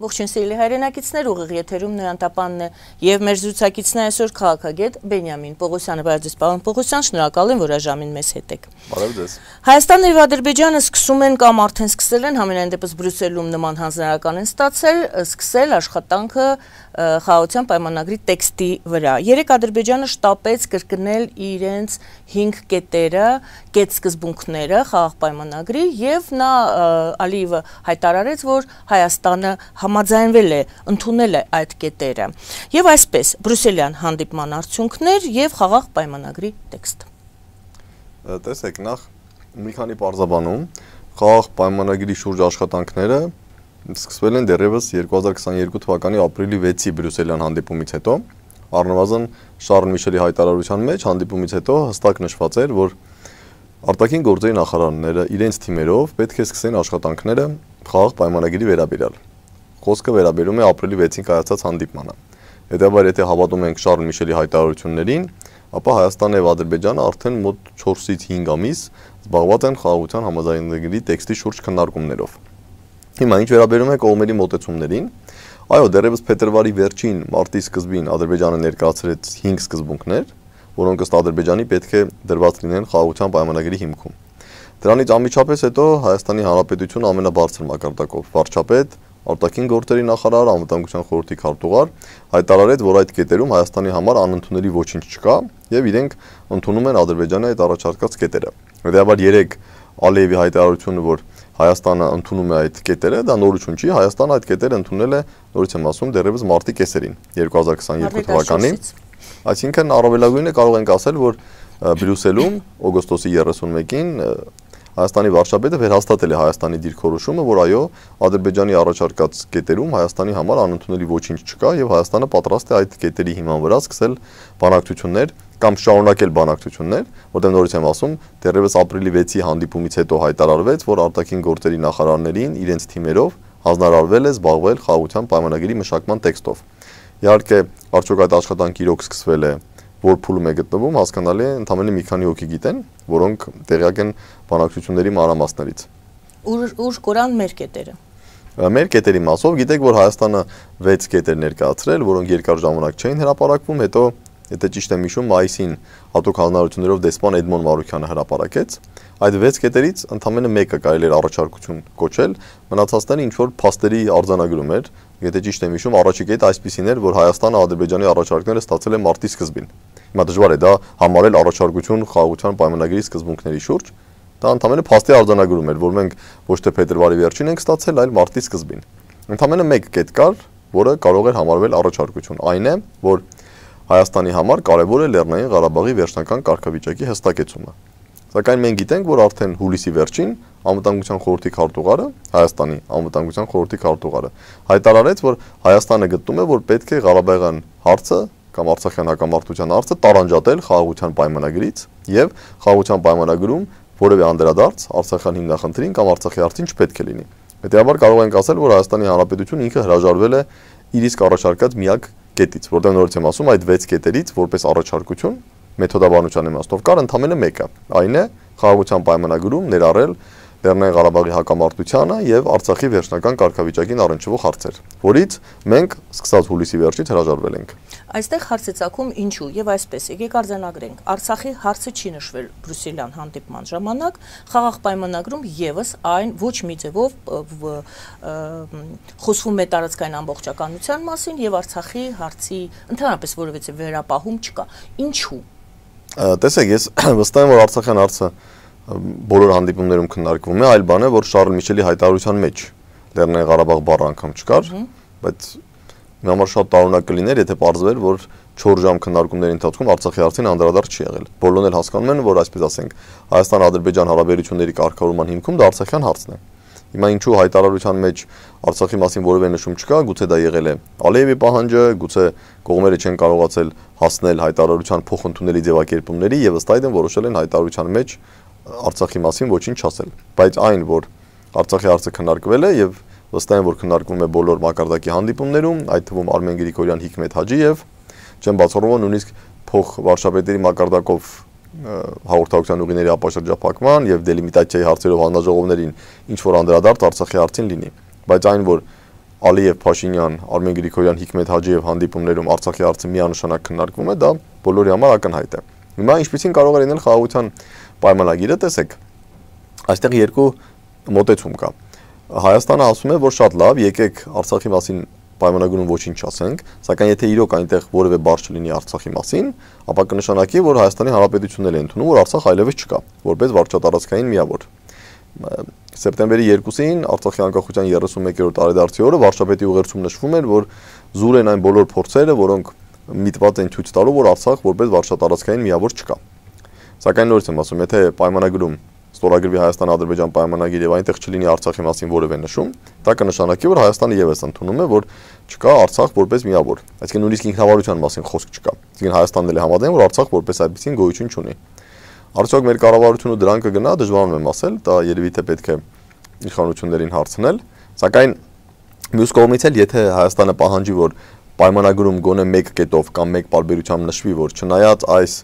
Ողջույն սիրելի հայրենակիցներ, ուղիղ եթերում Նոյան Տապանն է եւ մեր զրուցակիցն է այսօր քաղաքագետ Բենյամին Պողոսյանը։ Բարև ձեզ, պարոն Պողոսյան, շնորհակալ եմ, որ այժմին մեզ հետ եք։ Բարև ձեզ։ Հայաստանն եւ Ադրբեջանը սկսում են կամ արդեն սկսել են, համենայն դեպս Բրյուսելում նման հանձնարարական են սկսել աշխատանքը խաղաղության պայմանագրի տեքստի վրա։ Երեք Ադրբեջանը շտապեց կրկնել իրենց 5 կետերը, կետսկզբունքները խաղաղ պայմանագրի եւ նա Ալիևը հայտարարեց, որ Հայաստանը համաձայնվել է, ընդունել է այդ կետերը։ Եվ այսպես բրյուսելյան հանդիպման արդյունքներ եւ խաղաղ պայմանագրի տեքստ։ Տեսեք, նախ մի քանի պարզաբանում խաղաղ պայմանագրի շուրջ աշխատանքները սկսվել են դեռևս 2022 թվականի ապրիլի 6-ի բրյուսելյան հանդիպումից հետո, առնվազն Շարլ Միշելի հայտարարության մեջ հանդիպումից հետո հստակ նշված էր, որ արտաքին գործերի նախարարները իրենց թիմերով պետք է սկսեն աշխատանքները խաղաղ պայմանագրի վերաբերյալ։ Խոսքը վերաբերում է ապրիլի 6-ին կայացած հանդիպմանը։ Հետևաբար, եթե հավատում ենք Շարլ Միշելի հայտարարություններին, ապա Հայաստանն եւ Ադրբեջանը արդեն մոտ 4-ից 5 ամիս զբաղված են խաղաղության համաձայնագրի տեքստի շուրջ քննարկումներով։ Հիմա ինչ վերաբերում է կողմերի մոտեցումներին, այո, դեռևս փետրվարի վերջին մարտի սկզբին Ադրբեջանը ներկայացրեց 5 սկզբունքներ, որոնք ըստ Ադրբեջանի պետք է դրված լինեն խաղաղության պայմանագրի հիմքում։ Դրանից անմիջապես հետո Հայաստանի Հանրապետությունը ամենաբարձր մակարդակով վարչապետ, արտաքին գործերի նախարար, անվտանգության խորհրդի քարտուղար հայտարարեց, որ այդ կետերում Հայաստանի համար անընդունելի ոչինչ չկա եւ իրենք ընդունում են Ադրբեջանի այդ առաջարկած կետերը։ Հետեւաբար երեք Ալիևի հայտարարությունը, որ Հայաստանը ընդունում է այդ կետերը, դա նորություն չի, Հայաստանը այդ կետերը ընդունել է, նորից եմ ասում, դեռևս մարտի կեսերին 2022 թվականին։ Այսինքն առավելագույնը կարող ենք ասել, որ Բրյուսելում օգոստոսի 31-ին Հայաստանի վարչապետը վերհաստատել է Հայաստանի դիրքորոշումը, որ այո, Ադրբեջանի առաջարկած կետերում Հայաստանի համար անընդունելի ոչինչ չկա եւ Հայաստանը պատրաստ է այդ կետերի հիման վրա սկսել բանակցություններ կամ շարունակել բանակցություններ, որտեղ նորից եմ ասում, դեռևս ապրիլի 6-ի հանդիպումից հետո հայտարարվեց, որ արտաքին գործերի նախարարներին իրենց թիմերով հանձնարարվել է զբաղվել խաղաղության պայմանագրի մշակման տեքստով։ Իհարկե, արդյոք այդ աշխատանքը իրոք սկսվել է, որ փուլում է գտնվում, հասկանալի է, ընդամենը մի քանի հոգի գիտեն, որոնք տեղյակ են բանակցությունների մանրամասներից։ Ուր կորան մեր կետերը։ Մեր կետերի մասով գիտեք, որ Հայաստանը 6 կետեր ներկայացրել, որոնք երկար ժամանակ չէին հրապարակվում, հետո եթե ճիշտ եմ հիշում, մայիսին հատուկ հանձնարարություններով դեսպան Էդմոն Մարուքյանը հրապարակեց։ Այդ 6 կետերից ընդամենը մեկը կարելի էր առաջարկություն կոչել, մնացածները ինչ որ փաստերի արձանագրում էր։ Եթե ճիշտ եմ հիշում, առաջի կետը այսպեսին էր, որ Հայաստանը Ադրբեջանի առաջարկները ստացել է մարտի սկզբին։ Հիմա դժվար է դա համարել առաջարկություն խաղաղության պայմանագրի սկզբունքների շուրջ։ Դա ընդամենը փաստի արձանագրում էր, որ մենք ոչ թե փետրվարի վերջին ենք ստացել, այլ մարտի սկզբին։ Ընդամենը մեկ կետ կար, որը կարող էր համարվել առաջարկություն։ Այն է, որ Հայաստանի համար կարևոր է Լեռնային Ղարաբաղի վերջնական կարգավիճակի հստակեցումը։ Սակայն մենք գիտենք, որ արդեն հուլիսի վերջին անվտանգության խորհրդի քարտուղարը, Հայաստանի անվտանգության խորհրդի քարտուղարը հայտարարեց, որ Հայաստանը գտնում է, որ պետք է Ղարաբաղյան հարցը կամ Արցախյան հակամարտության հարցը տարանջատել խաղաղության պայմանագրից եւ խաղաղության պայմանագրում որևէ անդրադարձ Արցախյան հիմնախնդրին կամ Արցախի հարցին չպետք է լինի։ Հետեւաբար կարող ենք ասել, որ Հայաստանի Հանրապետությունը ինքը հրաժարվել է իր իսկ առաջարկած միակ կետից, որտեղ նորից եմ ասում, այդ 6 կետերից որպես առաջարկություն մեթոդաբանության իմաստով կար ընդամենը մեկը, այն է խաղաղության պայմանագրում ներառել Լեռնային Ղարաբաղի հակամարտությանը եւ Արցախի վերջնական կարգավիճակին առնչվող հարցեր, որից մենք սկսած հուլիսի վերջից հրաժարվել ենք։ Այստեղ հարց է ծագում ինչու եւ այսպես եկեք արձանագրենք, Արցախի հարցը չի նշվել բրյուսելյան հանդիպման ժամանակ, խաղաղ պայմանագրում եւս այն ոչ մի ձևով խոսվում է տարածքային ամբողջականության մասին եւ Արցախի հարցի ընդհանրապես որևէ վերապահում չկա։ Ինչու։ Տեսեք, ես վստահ եմ, որ Արցախյան հարցը բոլոր հանդիպումներում քննարկվում է, այլ բան է, որ Շարլ Միշելի հայտարարության մեջ Լեռնային Ղարաբաղ բառը անգամ չկար, բայց մի համար շատ տարօրինակ կլիներ, եթե պարզվեր, որ 4 ժամ քննարկումների ընթացքում Արցախի հարցին անդրադարձ չի եղել։ Բոլորն էլ հասկանում են, որ այսպես ասենք, Հայաստան-Ադրբեջան հարաբերությունների կարգավորման հիմքում դա Արցախյան հարցն է։ Հիմա ինչու հայտարարության մեջ Արցախի մասին որևէ նշում չկա, գուցե դա եղել է Ալիևի պահանջը, գուցե կողմերը չեն կարողացել հասնել հայտարարության փոխընդունելի ձևակերպումների եւ ըստ այդմ որոշել են հայտարարության մեջ Արցախի մասին ոչինչ չասել, բայց այն, որ Արցախի հարցը քննարկվել է եւ վստահ եմ, որ քննարկվում է բոլոր մակարդակի հանդիպումներում, այդ թվում Արմեն Գրիգորյան, Հիկմետ Հաջիև, չեմ բացառում նույնիսկ փոխ վարչապետերի մակարդակով հաղորդակցության ուղիների ապաշրջափակման եւ դելիմիտացիայի հարցերով հանձնաժողովներին ինչ որ անդրադարձ Արցախի հարցին լինի, բայց այն, որ Ալիև, Փաշինյան, Արմեն Գրիգորյան, Հիկմետ Հաջիև հանդիպումներում Արցախի հարցը միանշանակ քննարկվում է, դա բոլորի համար ակնհայտ է։ Հիմա ինչպեսին կարող է լինել խաղաղության պայմանագիրը, տեսեք, այստեղ երկու մոտեցում կա։ Հայաստանը ասում է, որ շատ լավ, եկեք Արցախի մասին պայմանագրում ոչինչ չասենք, սակայն եթե իրոք այնտեղ որևէ բառ չլինի Արցախի մասին, ապա կնշանակի, որ Հայաստանի Հանրապետությունն է ընդունում, որ Արցախ այլևս չկա, որպես վարչատարածքային միավոր։ Սեպտեմբերի 2-ին Արցախի անկախության 31-րդ տարեդարձի օրը վարչապետի ուղերձում նշվում էր, որ զուր են այն բոլոր փորձերը, որոնք միտված են ցույց տալու, որ Արցախ որպես վարչատարածքային միավոր չկա։ Սակայն նորից եմ ասում, եթե պայմանագրում ստորագրվի Հայաստան-Ադրբեջան պայմանագիր եւ այնտեղ չլինի Արցախի մասին որևէ նշում, դա կնշանակի, որ Հայաստանը եւս ընդունում է, որ չկա Արցախ որպես միավոր։ Այսինքն նույնիսկ ինքնավարության մասին խոսք չկա։ Այսինքն Հայաստանն էլ է համաձայն, որ Արցախ որպես այդպեսին գոյություն չունի։ Արդյոք մեր կառավարությունը դրան կգնա, դժվարանում եմ ասել, դա երևի թե պետք է իշխանություններին հարցնել, սակայն մյուս կողմից էլ եթե Հայաստանը պահանջի, որ պայմանագրում գոնե մեկ կետով կամ մեկ պարբերությամբ նշվի, որ չնայած այս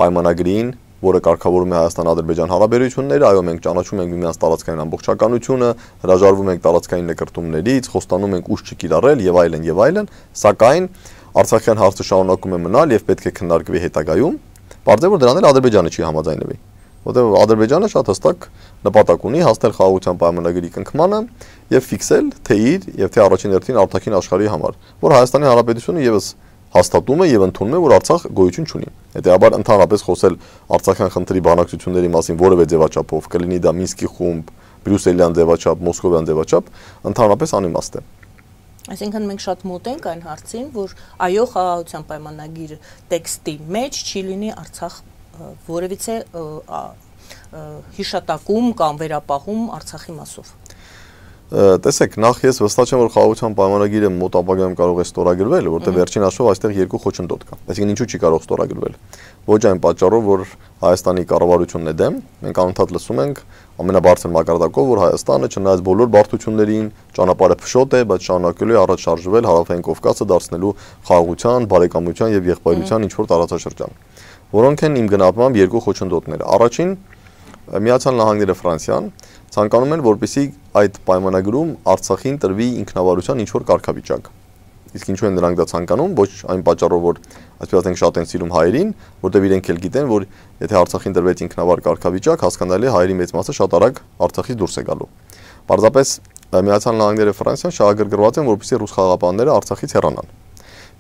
պայմանագրին, որը կարգավորում է Հայաստան-Ադրբեջան հարաբերությունները, այո, մենք ճանաչում ենք միմյանց տարածքային ամբողջականությունը, հրաժարվում ենք տարածքային նկրտումներից, խոստանում ենք ուժ չկիրառել եւ այլն, սակայն Արցախյան հարցը շարունակում է մնալ եւ պետք է քննարկվի հետագայում, պարզ է, որ դրան էլ Ադրբեջանը չի համաձայնվի, որտեղ Ադրբեջանը շատ հստակ նպատակ ունի հասնել խաղաղության պայմանագրի կնքմանը եւ ֆիքսել թե իր եւ թե առաջին հերթին արտաքին աշխարհի համար, որ Հայաստանի Հանրապետությունը եւս հաստատում է եւ ընդունում է, որ Արցախ գոյություն չունի։ Հետեւաբար ընդհանրապես խոսել Արցախյան խնդրի բանակցությունների մասին որևէ ձևաչափով, կլինի դա Մինսկի խումբ, Բրյուսելյան ձևաչափ, Մոսկովյան ձևաչափ, ընդհանրապես անիմաստ է։ Այսինքն մենք շատ մոտ ենք այն հարցին, որ այո, խաղաղության պայմանագիր տեքստի մեջ չի լինի Արցախ որևիցե հիշատակում կամ վերապահում Արցախի մասով։ Տեսեք, նախ ես վստահ չեմ, որ խաղաղության պայմանագիրը մոտ ապագայում կարող է ստորագրվել, որտեղ վերջին հաշվով այստեղ երկու խոչընդոտ կա։ Այսինքն ինչու չի կարող ստորագրվել։ Ոչ այն պատճառով, որ Հայաստանի կառավարությունն է դեմ, մենք անընդհատ լսում ենք ամենաբարձր մակարդակով, որ Հայաստանը չնայած բոլոր բարդություններին ճանապարհը փշոտ է, բայց շարունակելու է առաջ շարժվել Հարավային Կովկասը դարձնելու խաղաղության, բարեկամության եւ եղբայրության ինչ-որ տարածաշրջան, որոնք են իմ գնահատմամբ երկու խոչընդոտները։ Առաջին, Միացյալ Նահանգները, Ֆրանսիան ցանկանում են, որպեսզի այդ պայմանագրում Արցախին տրվի ինքնավարության ինչ-որ կարգավիճակ։ Իսկ ինչու են նրանք դա ցանկանում, ոչ այն պատճառով, որ այսպես ասենք շատ են սիրում հայերին, որտեղ իրենք էլ գիտեն, որ եթե Արցախին տրվեց ինքնավար կարգավիճակ, հասկանալի է հայերի մեծ մասը շատ արագ Արցախից դուրս է գալու։ Պարզապես Միացյալ Նահանգները, Ֆրանսիան շահագրգռված են, որպեսզի ռուս խաղաղապահները Արցախից հեռանան։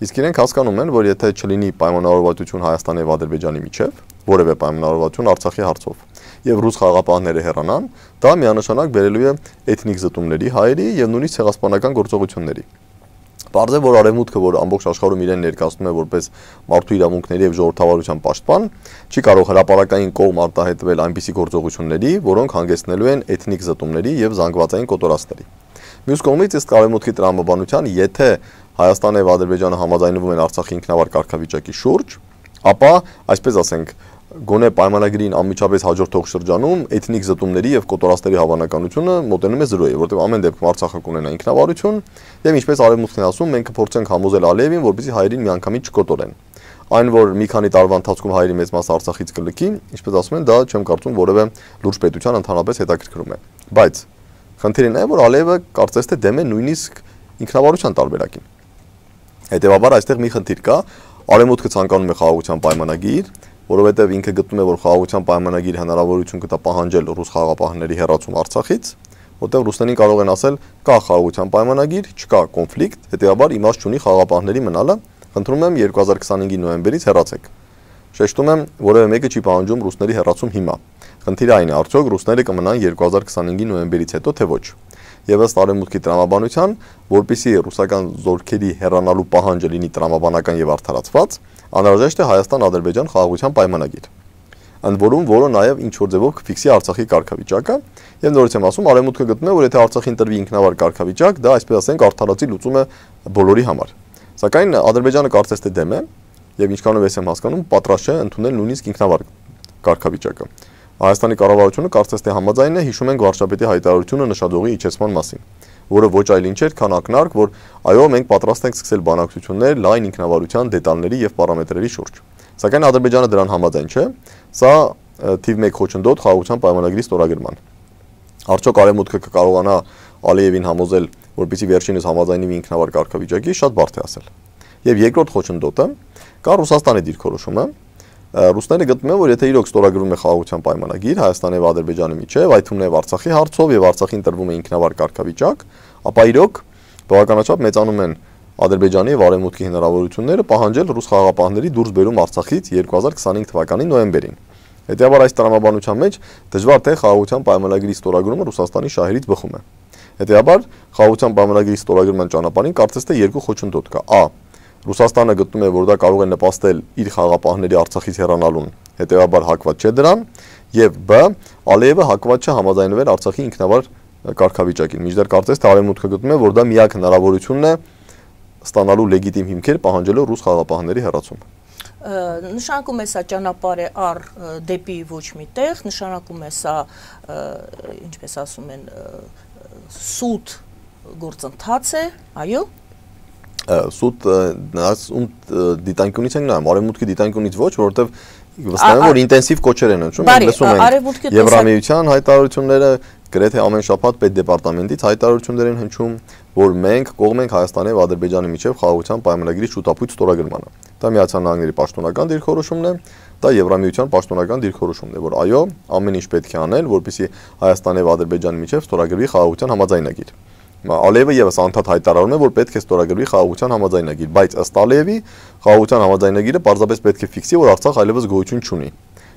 Իսկ իրենք հասկանում են, որ եթե չլինի պայմանավորվածություն Հայաստանի եւ Ադրբեջանի միջև, որևէ պայմանավորվածություն Արցախի հարցով, եւ ռուս խաղաղապահները հեռանան, դա միանշանակ բերելու է էթնիկ զտումների, հայերի եւ նույնիսկ ցեղասպանական գործողությունների։ Պարզ է, որ Արևմուտքը, որ ամբողջ աշխարհում իրեն ներկայացնում է որպես մարդու իրավունքների եւ ժողովրդավարության պաշտպան, չի կարող հրապարակային կողմ արտահայտվել այնպիսի գործողությունների, որոնք հանգեցնելու են էթնիկ զտումների եւ զանգվածային կոտորածների։ Մյուս կողմից ըստ Արևմուտքի տրամաբանության, եթե Հայաստանը եւ Ադրբեջանը համաձայնվում են Արցախի ինքնավար կարգավիճակի շուրջ, ապա, այսպես ասենք, գոնե պայմանագրին անմիջապես հաջորդող շրջանում էթնիկ զտումների եւ կոտորածների հավանականությունը մոտենում է 0-ի, որտեղ ամեն դեպքում Արցախը կունենա ինքնավարություն եւ ինչպես Արևմուտքն է ասում, մենք կփորձենք համոզել Ալիևին, որպեսզի հայերին միանգամից չկոտորեն։ Այն, որ մի քանի տարվա ընթացքում հայերի մեծ մասը Արցախից կլքի, ինչպես ասում են, դա չեմ կարծում որևէ լուրջ պետության ընդհանրապես հետաքրքրում է։ Բայց խնդիրն է, որ Ալիևը կարծես թե դեմ է նույնիսկ ինքնավարության տարբերակին։ Հետևաբար այստեղ մի խնդիր կա, Արևմուտքը ցանկանում է խաղաղության պայմանագիր, որովհետև ինքը գտնում է, որ խաղաղության պայմանագիր հնարավորություն կտա պահանջել ռուս խաղաղապահների հեռացում Արցախից, որտեղ ռուսներին կարող են ասել, կա խաղաղության պայմանագիր, չկա կոնֆլիկտ, հետեւաբար իմաստ չունի խաղաղապահների մնալը, խնդրում եմ 2025-ի նոյեմբերից հեռացեք։ Շեշտում եմ, որևէ մեկը չի պահանջում ռուսների հեռացում հիմա։ Խնդիրը այն է, արդյոք ռուսները կմնան 2025-ի նոյեմբերից հետո, թե ոչ։ Եվ ըստ Արևմուտքի տրամաբանության, որպեսզի ռուսական զորքերի հեռանալու պահանջը լինի տրամաբանական եւ արդարացված, անհրաժեշտ է Հայաստան-Ադրբեջան խաղաղության պայմանագիր, ընդ որում որը նաեւ ինչ որ ձևով կֆիքսի Արցախի կարգավիճակը, եւ նորից եմ ասում, Արևմուտքը գտնում է, որ եթե Արցախին տրվի ինքնավար կարգավիճակ, դա այսպես ասենք արդարացի լուծում է բոլորի համար։ Սակայն Ադրբեջանը կարծես թե դեմ է եւ ինչքանով ես եմ հասկանում, պատրաստ չէ ընդունել նույնիսկ ինքնավար կարգավիճակը։ Հայաստանի կառավարությունը կարծես թե համաձայն է, հիշում ենք վարչապետի հայտարարությունը նշադողի իջեցման մասին, որը ոչ այլ ինչ էր, քան ակնարկ, որ այո, մենք պատրաստ ենք սկսել բանակցություններ լայն ինքնավարության դետալների եւ պարամետրերի շուրջ։ Սակայն Ադրբեջանը դրան համաձայն չէ, սա թիվ 1 խոչընդոտ խաղաղության պայմանագրի ստորագրման։ Արդյոք Արևմուտքը կկարողանա Ալիևին համոզել, որպեսզի վերջինս համաձայնվի ինքնավար կարգավիճակի, շատ բարդ է ասել։ Եվ երկրորդ խոչընդոտը կա Ռուսաստանի դիրքորոշումը։ Ռուսները գտնում են, որ եթե իրոք ստորագրվում է խաղաղության պայմանագիր Հայաստանի եւ Ադրբեջանի միջեւ, այդ թվում նաեւ Արցախի հարցով եւ Արցախին տրվում է ինքնավար կարգավիճակ, ապա իրոք բավականաչափ մեծանում են Ադրբեջանի եւ Արևմուտքի հնարավորությունները պահանջել ռուս խաղաղապահների դուրս բերում Արցախից 2025 թվականի նոյեմբերին։ Հետևաբար այս տրամաբանության մեջ դժվար թե խաղաղության պայմանագրի ստորագրումը Ռուսաստանի շահերից բխում է։ Հետևաբար խաղաղության պայմանագրի ստորագրման ճանապարհին կարծես թե երկու խոչընդոտ կա։ Ա. Ռուսաստանը գտնում է, որ դա կարող է նպաստել իր խաղաղապահների Արցախից հեռանալուն, հետևաբար հակված չէ դրան, եւ Բ. Ալիևը հակված չէ համաձայնվել Արցախի ինքնավար կարգավիճակին։ Միջդեռ կարծես թե Արևմուտքը գտնում է, որ դա միակ հնարավորությունն է ստանալու լեգիտիմ հիմքեր պահանջելով ռուս խաղաղապահների հեռացում։ Նշանակում է սա ճանապարհ է առ դեպի ոչ մի տեղ, նշանակում է սա, ինչպես ասում են, սուտ գործընթաց է, այո։ Սուտ դիտանկյունից ենք նայում, Արևմուտքի դիտանկյունից ոչ, որովհետև վստահ եմ, որ ինտենսիվ կոչեր են հնչում, լսում ենք Եվրամիության հայտարարությունները, գրեթե ամեն շաբաթ պետդեպարտամենտից հայտարարություններ են հնչում, որ մենք կողմ ենք Հայաստանի եւ Ադրբեջանի միջեւ խաղաղության պայմանագրի շուտապույտ ստորագրմանը։ Դա Միացյալ Նահանգների պաշտոնական դիրքորոշումն է, դա Եվրամիության պաշտոնական դիրքորոշումն է, որ այո, ամեն ինչ պետք է անել, որպեսզի Հայաստանի եւ Ադրբեջանի միջեւ ստորագրվի խաղաղության համաձայնագիր։ Ալիևը եւս անդադ հայտարարում է, որ պետք է ստորագրվի խաղաղության համաձայնագիր, բայց ըստ Ալիևի խաղաղության համաձայնագիրը պարզապես պետք է ֆիքսի, որ Արցախ այլևս գոյություն չունի։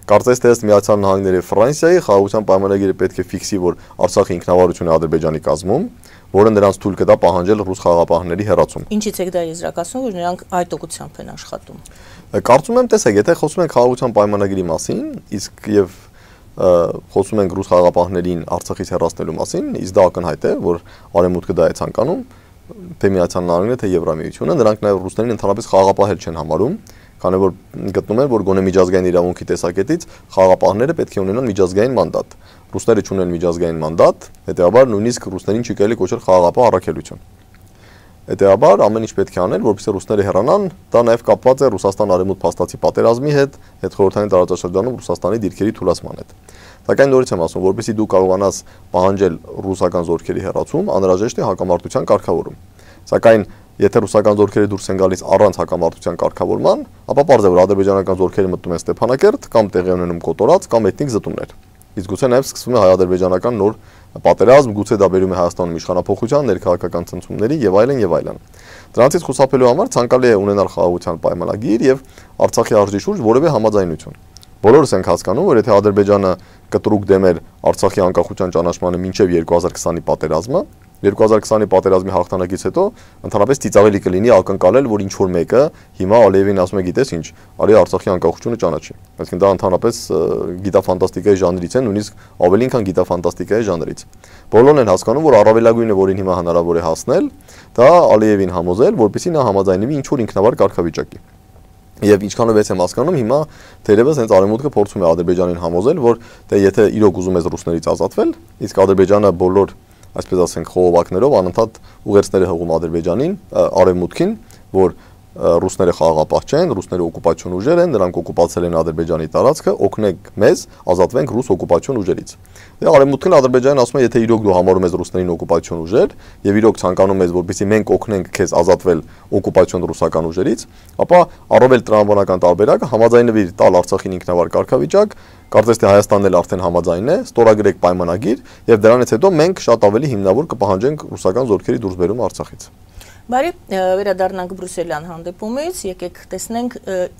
Կարծես թե ըստ Միացյալ Նահանգների եւ Ֆրանսիայի խաղաղության պայմանագիրը պետք է ֆիքսի, որ Արցախի ինքնավարությունը Ադրբեջանի կազմում, որը նրանց թույլ կտա պահանջել ռուս խաղաղապահների հեռացում։ Ինչից եք դա եզրակացնում, որ նրանք այդ ուղղությամբ են աշխատում։ Կարծում եմ, տեսեք, եթե խոսում ենք խաղաղության պայմանագրի մասին, իսկ եւ խոսում ենք ռուս խաղաղապահներին Արցախից հեռացնելու մասին, իսկ դա ակնհայտ է, որ Արևմուտքը դա է ցանկանում, թե Միացյալ Նահանգները, թե Եվրամիությունը, նրանք նաև ռուսներին ընդհանրապես խաղաղապահել չեն համարում, քանի որ գտնում են, որ գոնե միջազգային իրավունքի տեսակետից խաղաղապահները պետք է ունենան միջազգային մանդատ։ Ռուսները չունեն միջազգային մանդատ, հետեւաբար նույնիսկ ռուսներին չի կարելի կոչել խաղաղապահ առաքելություն։ Հետեւաբար ամեն ինչ պետք է անել, որպեսզի ռուսները հեռանան, դա նաև կապված է Ռուսաստան-Արևմուտք փաստացի պատերազմի հետ, հետխորհրդային տարածաշրջանում Ռուսաստանի դիրքերի թուլացման հետ։ Սակայն նորից եմ ասում, որպեսզի դու կարողանաս պահանջել ռուսական զորքերի հեռացում, անհրաժեշտ է հակամարտության կարգավորում։ Սակայն եթե ռուսական զորքերը դուրս են գալիս առանց հակամարտության կարգավորման, ապա պարզ է, որ ադրբեջանական զորքերը մտնում են Ստեփանակերտ կամ տեղի ունենում Կոտորած կամ էթնիկ զտումներ։ Իսկ գուցե նաև սկսվում է հայ-ադրբեջանական նոր պատերազմ, գուցե դա բերում է Հայաստանում իշխանափոխության, ներքաղաքական ցնցումների եւ այլն եւ այլն։ Դրանցից խուսափելու համար ցանկալի է ունենալ խաղաղության պայմանագիր եւ Արցախի արժի շուրջ որևէ համաձայնություն։ Բոլորս ենք հասկանում, որ եթե Ադրբեջանը կտրուկ դեմ էր Արցախի անկախության ճանաչմանը մինչև 2020-ի պատերազմը, 2020-ի պատերազմի հաղթանակից հետո ընդհանրապես ծիծաղելի կլինի ակնկալել, որ ինչ որ մեկը հիմա Ալիևին ասում է, գիտես ինչ, արի Արցախի անկախությունը ճանաչի։ Այսինքն դա ընդհանրապես գիտաֆանտաստիկայի ժանրից է, նույնիսկ ավելին քան գիտաֆանտաստիկայի ժանրից։ Բոլորն են հասկանում, որ առավելագույնը, որին հիմա հնարավոր է հասնել, դա Ալիևին համոզել, որպեսզի նա համաձայնվի ինչ որ ինքնավար կարգավիճակի։ Եվ ինչքանով ես եմ հասկանում, հիմա թերևս հենց Արևմուտքը փորձում է Ադրբեջանին համոզել, որ դե եթե իրոք ուզում ես ռուսներից ազատվել, իսկ Ադրբեջանը բոլոր, այսպես ասենք, խողովակներով անընդհատ ուղերձներ է հղում Ադրբեջանին, Արևմուտքին, որ ռուսները խաղաղապահ չեն, ռուսները օկուպացիոն ուժեր են, նրանք օկուպացել են Ադրբեջանի տարածքը, օգնեք մեզ ազատվենք ռուս օկուպացիոն ուժերից։ Դե Արևմուտքն Ադրբեջանին ասում է, եթե իրոք դու համարում ես ռուսներին օկուպացիոն ուժեր եւ իրոք ցանկանում ես, որպեսզի մենք օգնենք քեզ ազատվել օկուպացիոն ռուսական ուժերից, ապա առավել տրամաբանական տարբերակը համաձայնվիր տալ Արցախին ինքնավար կարգավիճակ, կարծես թե Հայաստանն էլ արդեն համաձայն է, ստորագրեք պայմանագիր եւ դրանից հետո մենք շատ ավելի հիմնավոր կպահանջենք ռուսական զորքերի դուրսբերումը Արցախից։ Բարի, վերադառնանք Բրյուսելյան հանդիպումից, եկեք տեսնենք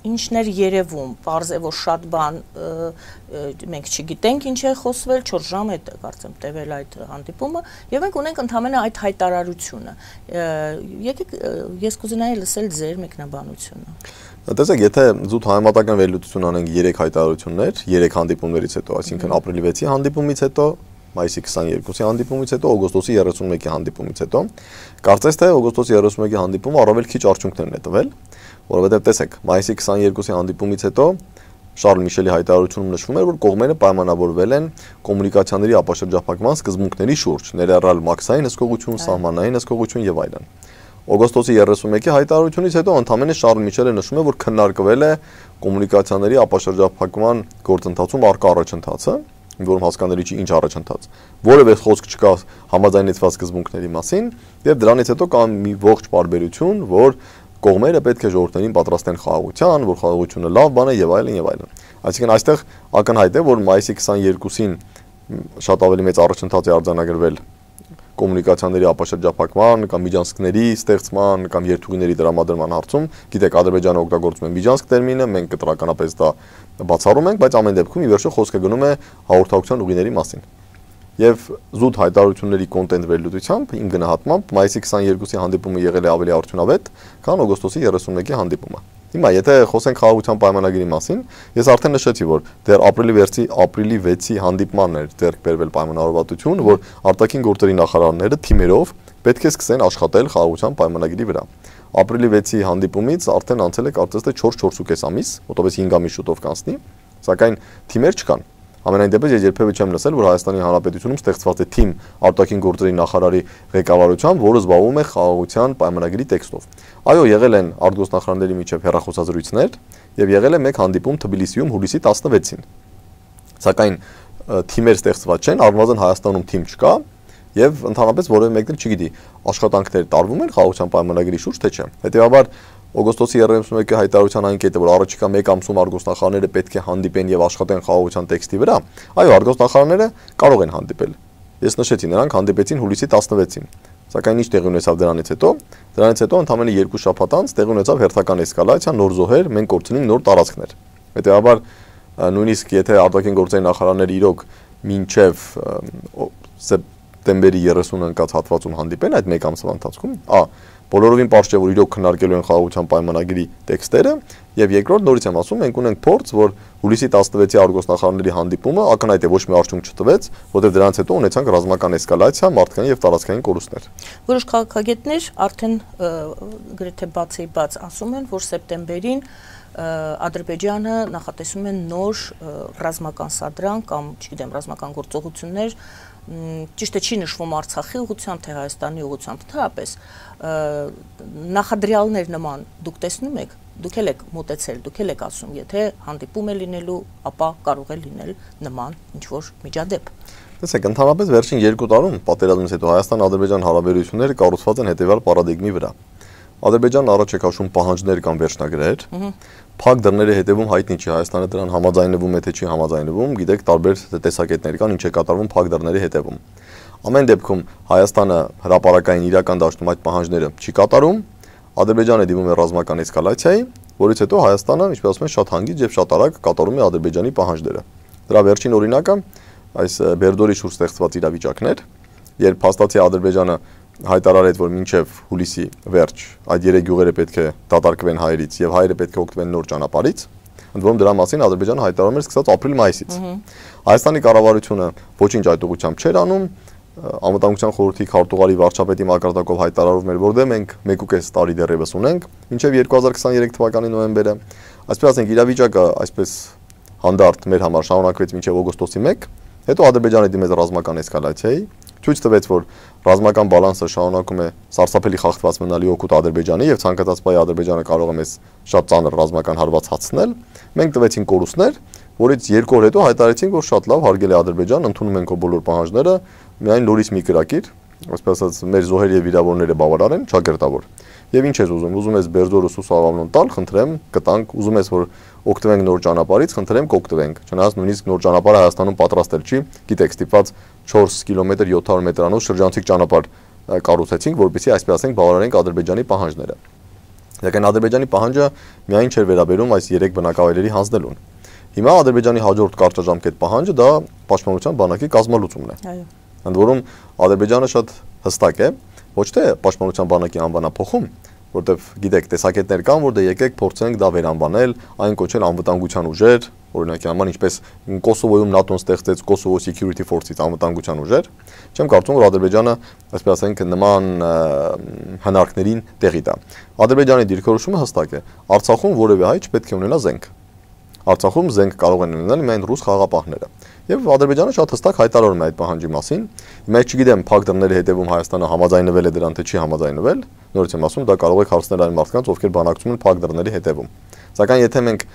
ինչներ երևում, պարզ է, որ շատ բան մենք չգիտենք ինչ է խոսվել, 4 ժամ է կարծեմ տևել այդ հանդիպումը, եւ մենք ունենք ընդհանրապես այդ հայտարարությունը։ Եկեք ես կուզենայի լսել ձեր մեկնաբանությունը։ Տեսեք, եթե զուտ համեմատական վերլուծություն անենք 3 հայտարարություններ, 3 հանդիպումներից հետո, այսինքն ապրիլի 6-ի հանդիպումից հետո, մայիսի 22-ի հանդիպումից հետո, օգոստոսի 31-ի հանդիպումից հետո, կարծես թե օգոստոսի 31-ի հանդիպումը առավել քիչ արդյունքներ է տվել, որովհետև տեսեք, մայիսի 22-ի հանդիպումից հետո Շարլ Միշելի հայտարարությունում նշվում էր, որ կողմերը պայմանավորվել են կոմունիկացիաների ապաշրջափակման սկզբունքների շուրջ, ներառյալ մաքսային հսկողություն, սահմանային հսկողություն եւ այլն։ Օգոստոսի 31-ի հայտարարությունից հետո ընդամենը Շարլ Միշելը նշում է, որ քննարկվել է կոմունիկացիաների ապաշրջափակման գործընթացում առկա առաջընթացը, որում հասկանալի չի ինչ առաջընթաց։ Որևէ խոսք չկա համաձայնեցված սկզբունքների մասին, եւ դրանից հետո կա մի ողջ բարբերություն, որ կողմերը պետք է ժողովրդներին պատրաստեն խաղաղության, որ խաղաղությունը լավ բան է եւ այլն եւ այլն։ Այսինքն այստեղ ակնհայտ է, որ մայիսի 22-ին շատ ավելի մեծ առաջընթաց է արձանագրվել կոմունիկացիաների ապաշրջափակման կամ միջանցքների ստեղծման կամ երթուղիների տրամադրման հարցում, գիտեք, Ադրբեջանը օգտագործում է միջանցք տերմինը, մենք կտրականապես դա բացառում ենք, բայց ամեն դեպքում ի վերջո խոսքը գնում է հաղորդակցության ուղիների մասին։ Եվ զուտ հայտարարությունների կոնտենտ վերլուծությամբ իմ գնահատմամբ մայիսի 22-ի հանդիպումը եղել է ավելի արդյունավետ, քան օգոստոսի 31-ի հանդիպումը։ Հիմա եթե խոսենք խաղաղության պայմանագրի մասին, ես արդեն նշեցի, որ դեռ ապրիլի 6-ի հանդիպմանն էր ձեռք բերվել պայմանավորվածություն, որ արտաքին գործերի նախարարները թիմերով պետք է սկսեն աշխատել խաղաղության պայմանագրի վրա։ Ապրիլի 6-ի հանդիպումից արդեն անցել է կարծես թե 4-4.5 ամիս, մոտավորապես 5 ամիս շուտով կանցնի, սակայն թիմեր չկան։ Ամենայն դեպս ես երբևէ չեմ լսել, որ Հայաստանի Հանրապետությունում ստեղծված է թիմ արտաքին գործերի նախարարի ղեկավարությամբ, որը զբաղվում է խաղաղության պայմանագրի տեքստով։ Այո, եղել են արտգործնախարարների միջև հեռախոսազրույցներ եւ եղել է մեկ հանդիպում Թբիլիսիում հուլիսի 16-ին։ Սակայն թիմեր ստեղծված չեն, առնվազն Հայաստանում թիմ չկա եւ ընդհանրապես որևէ մեկն էլ չգիտի աշխատանքներ տարվում են խաղաղության պայմանագրի շուրջ թե չէ։ Հետեւաբար օգոստոսի 31-ի հայտարարության այն կետը, որ առաջիկա 1 ամսում արտգործնախարարները պետք է հանդիպեն եւ աշխատեն խաղաղության տեքստի վրա, այո, արտգործնախարարները կարող են հանդիպել։ Ես նշեցի, նրանք հանդիպեցին հուլիսի 16-ին։ Սակայն ինչ տեղի ունեցավ դրանից հետո ընդամենը 2 շաբաթ անց տեղի ունեցավ հերթական էսկալացիա, նոր զոհեր, մենք կորցնենք նոր տարածքներ։ Հետեւաբար նույնիսկ եթե արտաքին գործերի նախարարները իրոք մինչև սեպտեմբերի 30-ը ընկած հատվածում հանդիպեն այդ 1 ամսվա ընթացքում, բոլորովին պարզ չէ, որ իրոք քննարկելու են խաղաղության պայմանագրի տեքստերը, եւ երկրորդ նորից եմ ասում, մենք ունենք փորձ, որ հուլիսի 16-ի արտգործնախարարների հանդիպումը ակնհայտ է ոչ մի արդյունք չտվեց, որտեղ դրանից հետո ունեցանք ռազմական էսկալացիա, մարդկային եւ տարածքային կորուստներ։ Որոշ քաղաքագետներ արդեն գրեթե բացի-բաց ասում են, որ սեպտեմբերին Ադրբեջանը նախատեսում է նոր ռազմական սադրանք կամ, չգիտեմ, ռազմական գործողություններ, ճիշտ է չի նշվում Արցախի ուղղությամբ, թե Հայաստանի ուղղությամբ, ընդհանրապես նախադրյալներ նման դուք տեսնում եք, դուք եք մոտեցել, դուք եք ասում, եթե հանդիպում է լինելու, ապա կարող է լինել նման ինչ-որ միջադեպ։ Տեսեք, ընդհանրապես վերջին 2 տարում պատերազմից հետո Հայաստան-Ադրբեջան հարաբերությունները կառուցված են հետևյալ պարադիգմի վրա։ Ադրբեջանն առաջ է քաշում պահանջներ կամ վերջնագրեր, փակ դռների հետևում հայտնի չի Հայաստանը դրան համաձայնվում է թե չի համաձայնվում, գիտեք, տարբեր տեսակետներ կան, ինչ է կատարվում փակ դռների հետևում։ Ամեն դեպքում Հայաստանը հրապարակային իրական դաշտում այդ պահանջները չի կատարում, Ադրբեջանը դիմում է ռազմական էսկալացիայի, որից հետո Հայաստանը, ինչպես ասում են, շատ հանգիստ եւ շատ արագ կատարում է Ադրբեջանի պահանջները։ Դրա վերջին օրինակը այս Բերդորի շուրջ ստեղծված իրավիճակն էր, երբ փաստացի Ադրբեջանը հայտարարեց, որ մինչև հուլիսի վերջ այդ 3 գյուղերը պետք է դատարկվեն հայերից եւ հայերը պետք է օգտվեն նոր ճանապարհից, ընդ որում դրա մասին Ադրբեջանը հայտարարում էր սկսած ապրիլ-մայիսից։ Հայաստանի կառավարությունը ոչինչ այդ ուղղությամբ չէր անում, Անվտանգության խորհրդի քարտուղարի վարչապետի մակարդակով հայտարարում էր, որ դե մենք 1.5 տարի դեռևս ունենք, մինչև 2023 թվականի նոյեմբերը, այսպես ասենք, իրավիճակը այսպես հանդարտ մեր համար շարունակվեց մինչև օգոստոսի 1, հետո Ադրբեջանը դիմեց ռազմական էսկալացիայի, ցույց տվեց, որ ռազմական բալանսը շարունակում է սարսափելի խախտված մնալի օգուտ Ադրբեջանի եւ ցանկացած պահի Ադրբեջանը կարող է մեզ շատ ծանր ռազմական հարված հացնել։ Մենք տվեցին կորուստներ, որից 2 օր հետո հայտարարեցինք, որ շատ լավ հարգել է Ադրբեջան, ընդունում ենք բոլոր պահանջները, միայն նորից մի կրակիր, այսպես ասած, մեր զոհեր եւ վիրավորները բավարար են, ճակերտավոր։ Եվ ինչ ես ուզում, ուզում ես Բերդորը Սուսավավնոն տալ, խնդրեմ, կտանք, ուզում ես որ օգտվենք նոր ճանապարհից, խնդրեմ կօգտվենք։ Չնայած նույնիսկ նոր ճանապարհը Հայաստանում պատրաստել չի, գիտեք, ստիպված 4 կիլոմետր 700 մետրանոց շրջանցիկ ճանապարհ կառուցեցինք, որպեսզի այսպես ասենք բավարարենք Ադրբեջանի պահանջները։ Սակայն Ադրբեջանի պահանջը միայն չէր վերաբերում այս 3 բնակավայրերի հանձնելուն։ Հիմա Ադրբեջանի հաջորդ կարճաժամկետ պահանջը դա Պաշտպանության բանակի կազմալուծումն է։ Այո։ Ընդ որում Ադրբեջանը շատ հստակ է, ոչ թե Պաշտպանության բանակի անվանափոխում, որտեվ գիտեք, տեսակետներ կան, որ դե եկեք փորձենք դա վերանվանել, այն կոչել անվտանգության ուժեր, օրինակի համար ինչպես Կոսովոյում ՆԱՏՕ-ն ստեղծեց Kosovo Security Force-ից անվտանգության ուժեր, չեմ կարծում, որ Ադրբեջանը, այսպես ասենք, նման հնարքներին տեղի տա։ Ադրբեջանի դիրքորոշումը հստակ է։ Արցախում որևէ հայ չպետք է ունենա զենք։ Արցախում զենք կարող են ունենալ միայն ռուս խաղաղապահները։ Եվ Ադրբեջանը շատ հստակ հայտարարում է այդ պահանջի մասին։ Հիմա չգիտեմ, փակ դռների հետևում Հայաստանը համաձայնվել է դրան, թե չի համաձայնվել։ Նորից եմ ասում, դա կարող է հարցնել այն մարդկանց, ովքեր բանակցում են փակ դռների հետևում։ Սակայն եթե մենք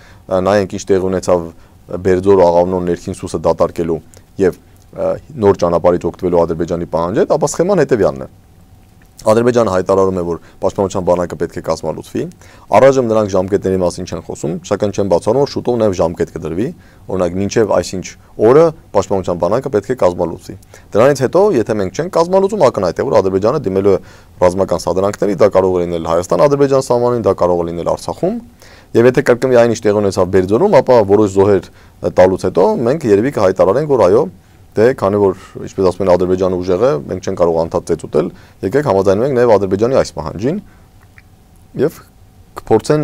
նայենք ինչ տեղի ունեցավ Բերձոր Աղավնոն ներքին սուսը դատարկելու եւ նոր ճանապարհից օգտվելու Ադրբեջանի պահանջը, ապա սխեման հետեւյալն է։ Ադրբեջանը հայտարարում է, որ Պաշտպանության բանակը պետք է կազմալուծվի։ Առայժմ նրանք ժամկետների մասին չեն խոսում, սակայն չեն բացառում, որ շուտով նաև ժամկետ կդրվի, օրինակ մինչև այսինչ օրը Պաշտպանության բանակը պետք է կազմալուծվի։ Դրանից հետո, եթե մենք չենք կազմալուծում, ակնհայտ է, որ Ադրբեջանը դիմելու է ռազմական սադրանքների, դա կարող է լինել Հայաստան-Ադրբեջան սահմանին, դա կարող է լինել Արցախում, եւ եթե կրկնվի այն ինչ տեղի ունեցավ Բերձորում, ապա որոշ զոհեր տալուց հետո մենք երևի կհայտարարենք, որ այո, դե քանի որ ինչպես ասում են Ադրբեջանը ուժեղ է, մենք չենք կարող անդադ ծեծ ուտել, եկեք համաձայնվենք նաև Ադրբեջանի այս պահանջին եւ կփորձեն,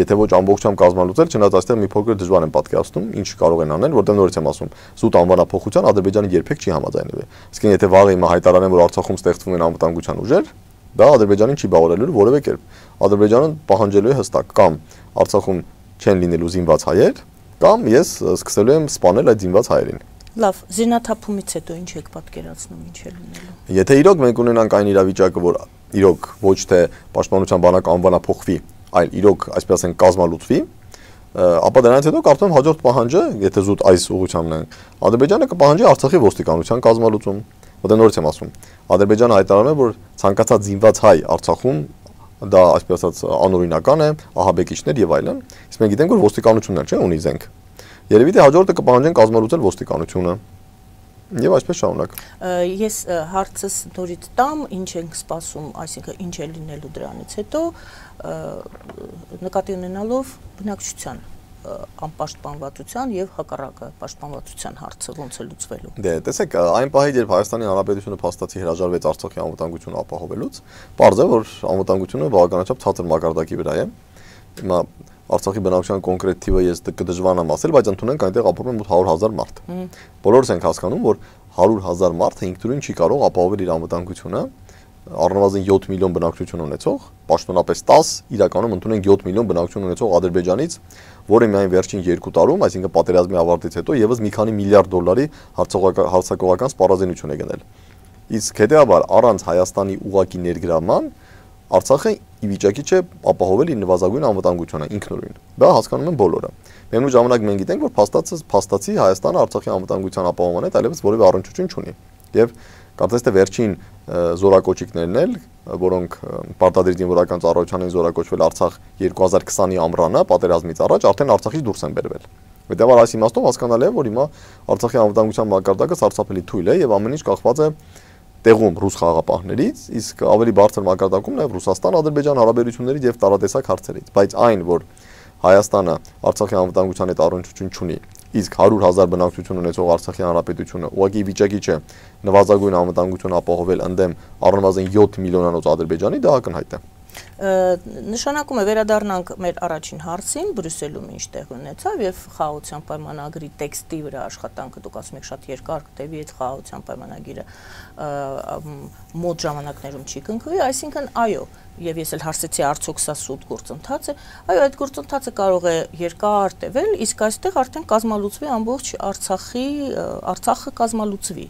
եթե ոչ ամբողջությամբ կազմալուծել, չնայած այստեղ մի փոքր դժվար են պատկերացնում, ինչ կարող են անել, որտեղ նորից եմ ասում, զուտ անվանափոխության Ադրբեջանը երբեք չի համաձայնվի։ Իսկ եթե վաղը հիմա հայտարարեն, որ Արցախում ստեղծվում են անվտանգության ուժեր, դա Ադրբեջանին չի բավարարելու որևէ կերպ։ Ադրբեջանը պահանջելու է հստակ կամ Արցախում չեն լինելու զինված հայեր, կամ ես սկսելու եմ սպանել այդ զինված հայերին։ Լավ, զինաթափումից հետո ինչ եք պատկերացնում, ինչ է լինելու։ Եթե իրոք մենք ունենանք այն իրավիճակը, որ իրոք ոչ թե Պաշտպանության բանակը անվանափոխվի, այլ իրոք, այսպես ասենք, կազմալուծվի, ապա դրանից հետո կարծում եմ հաջորդ պահանջը, եթե զուտ այս ուղղությանն է, Ադրբեջանը կպահանջի Արցախի ոստիկանության կազմալուծում։ Որտեղ նորից եմ ասում, Ադրբեջանը հայտարարում է, որ ցանկացած զինված հայ Արցախում դա այսպես ասած անօրինական է, ահաբեկիչներ եւ այլն, իսկ մենք գիտենք, որ ոստիկանությունն չէ, ունի զենք։ Երևի թե հաջորդը կպահանջեն կազմալուծել ոստիկանությունը եւ այսպես շարունակ։ Ես հարցս նորից տամ, ինչ ենք սպասում, այսինքն ինչ է լինելու դրանից հետո, նկատի ունենալով բնակչության անպաշտպանվածության եւ հակառակը պաշտպանվածության հարցը ոնց է լուծվելու։ Դե, տեսեք, այն պահից, երբ Հայաստանի Հանրապետությունը փաստացի հրաժարվեց Արցախի անվտանգությունը ապահովելուց, պարզ է, որ անվտանգությունը բավականաչափ ցածր մակարդակի վրա է։ Հիմա Արցախի բնակչության կոնկրետ թիվը ես կդժվարանամ ասել, բայց ընդունենք այնտեղ ապրում է 100,000 մարդ։ Բոլորս ենք հասկանում, որ 100,000 մարդը ինքնուրույն չի կարող ապահովել իր անվտանգությունը, առնվազն 7 միլիոն բնակչություն ունեցող, պաշտոնապես 10, իրականում ընդունենք 7 միլիոն բնակչություն ունեցող Ադրբեջանից, որը միայն վերջին 2 տարում, այսինքն պատերազմի ավարտից հետո եւս մի քանի միլիարդ դոլարի հարձակողական սպառազինություն է գնել։ Իսկ հետեւաբար առանց Հայաստանի ուղակի ներգրավման Արցախը ի վիճակի չէ ապահովել իր նվազագույն անվտանգությունը ինքնուրույն։ Դա հասկանում են բոլորը։ Միևնույն ժամանակ մենք գիտենք, որ փաստացի Հայաստանը Արցախի անվտանգության ապահովման հետ այլևս որևէ առնչություն չունի։ Եվ կարծես թե վերջին զորակոչիկներն էլ, որոնք պարտադիր զինվորական ծառայության են զորակոչվել Արցախ 2020-ի ամռանը, պատերազմից առաջ արդեն Արցախից դուրս են բերվել։ Հետևաբար այս իմաստով հասկանալի է, որ հիմա Արցախի անվտանգության մակարդակը սարսափելի թույլ է եւ ամեն ինչ կախված է տեղում ռուս խաղաղապահներից, իսկ ավելի բարձր մակարդակում նաև Ռուսաստան-Ադրբեջան հարաբերություններից եւ տարատեսակ հարցերից, բայց այն, որ Հայաստանը Արցախի անվտանգության հետ առնչություն չունի, իսկ 100,000 բնակչություն ունեցող Արցախի հանրապետությունը ուղղակի վիճակի չէ նվազագույն անվտանգություն ապահովել ընդդեմ առնվազն 7 միլիոնանոց Ադրբեջանի, դա ակնհայտ է։ Նշանակում է վերադառնանք մեր առաջին հարցին, Բրյուսելում ինչ տեղ ունեցավ եւ խաղաղության պայմանագրի տեքստի վրա աշխատանքը, դուք ասում եք շատ երկար կտևի այդ խաղաղության պայմանագիրը մոտ ժամանակներում չի կնքվի, այսինքն այո, եւ ես էլ հարցեցի արդյոք սա սուտ գործընթաց է, այո, այդ գործընթացը կարող է երկար տևել, իսկ այստեղ արդեն կազմալուծվի ամբողջ Արցախը կազմալուծվի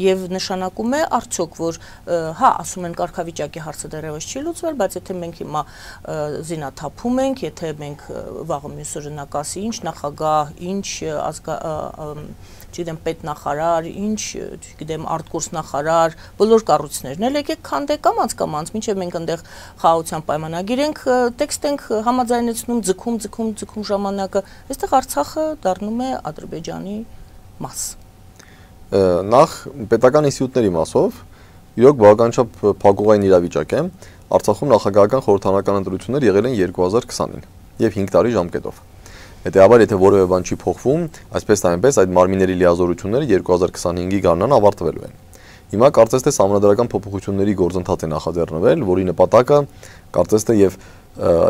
եւ նշանակում է արդյոք որ հա ասում են կարգավիճակի հարցը դեռևս չի լուծվել, բայց եթե մենք հիմա զինաթափում ենք, եթե մենք վաղը մյուս օրը նա կասի ինչ նախագահ, ինչ չգիտեմ պետնախարար, ինչ, չգիտեմ արտգործնախարար, բոլոր կառույցներն էլ եկեք քանդեք կամած, մինչև մենք այնտեղ խաղաղության պայմանագիր ենք, տեքստ ենք համաձայնեցնում, ձգում ժամանակը, այստեղ Արցախը դառնում է Ադրբեջանի մաս։ Նախ պետական ինստիտուտների մասով իրոք բավականաչափ փակուղային իրավիճակ է։ Արցախում նախագահական խորհրդարանական ընտրություններ եղել են 2020-ին եւ 5 տարի ժամկետով։ Հետեւաբար, եթե որևէ բան չի փոխվում, այսպես թե այնպես այդ մարմինների լիազորությունները 2025-ի գարնան ավարտվելու են։ Հիմա կարծես թե համանդրական փոփոխությունների գործընթաց է նախաձեռնվել, որի նպատակը կարծես թե եւ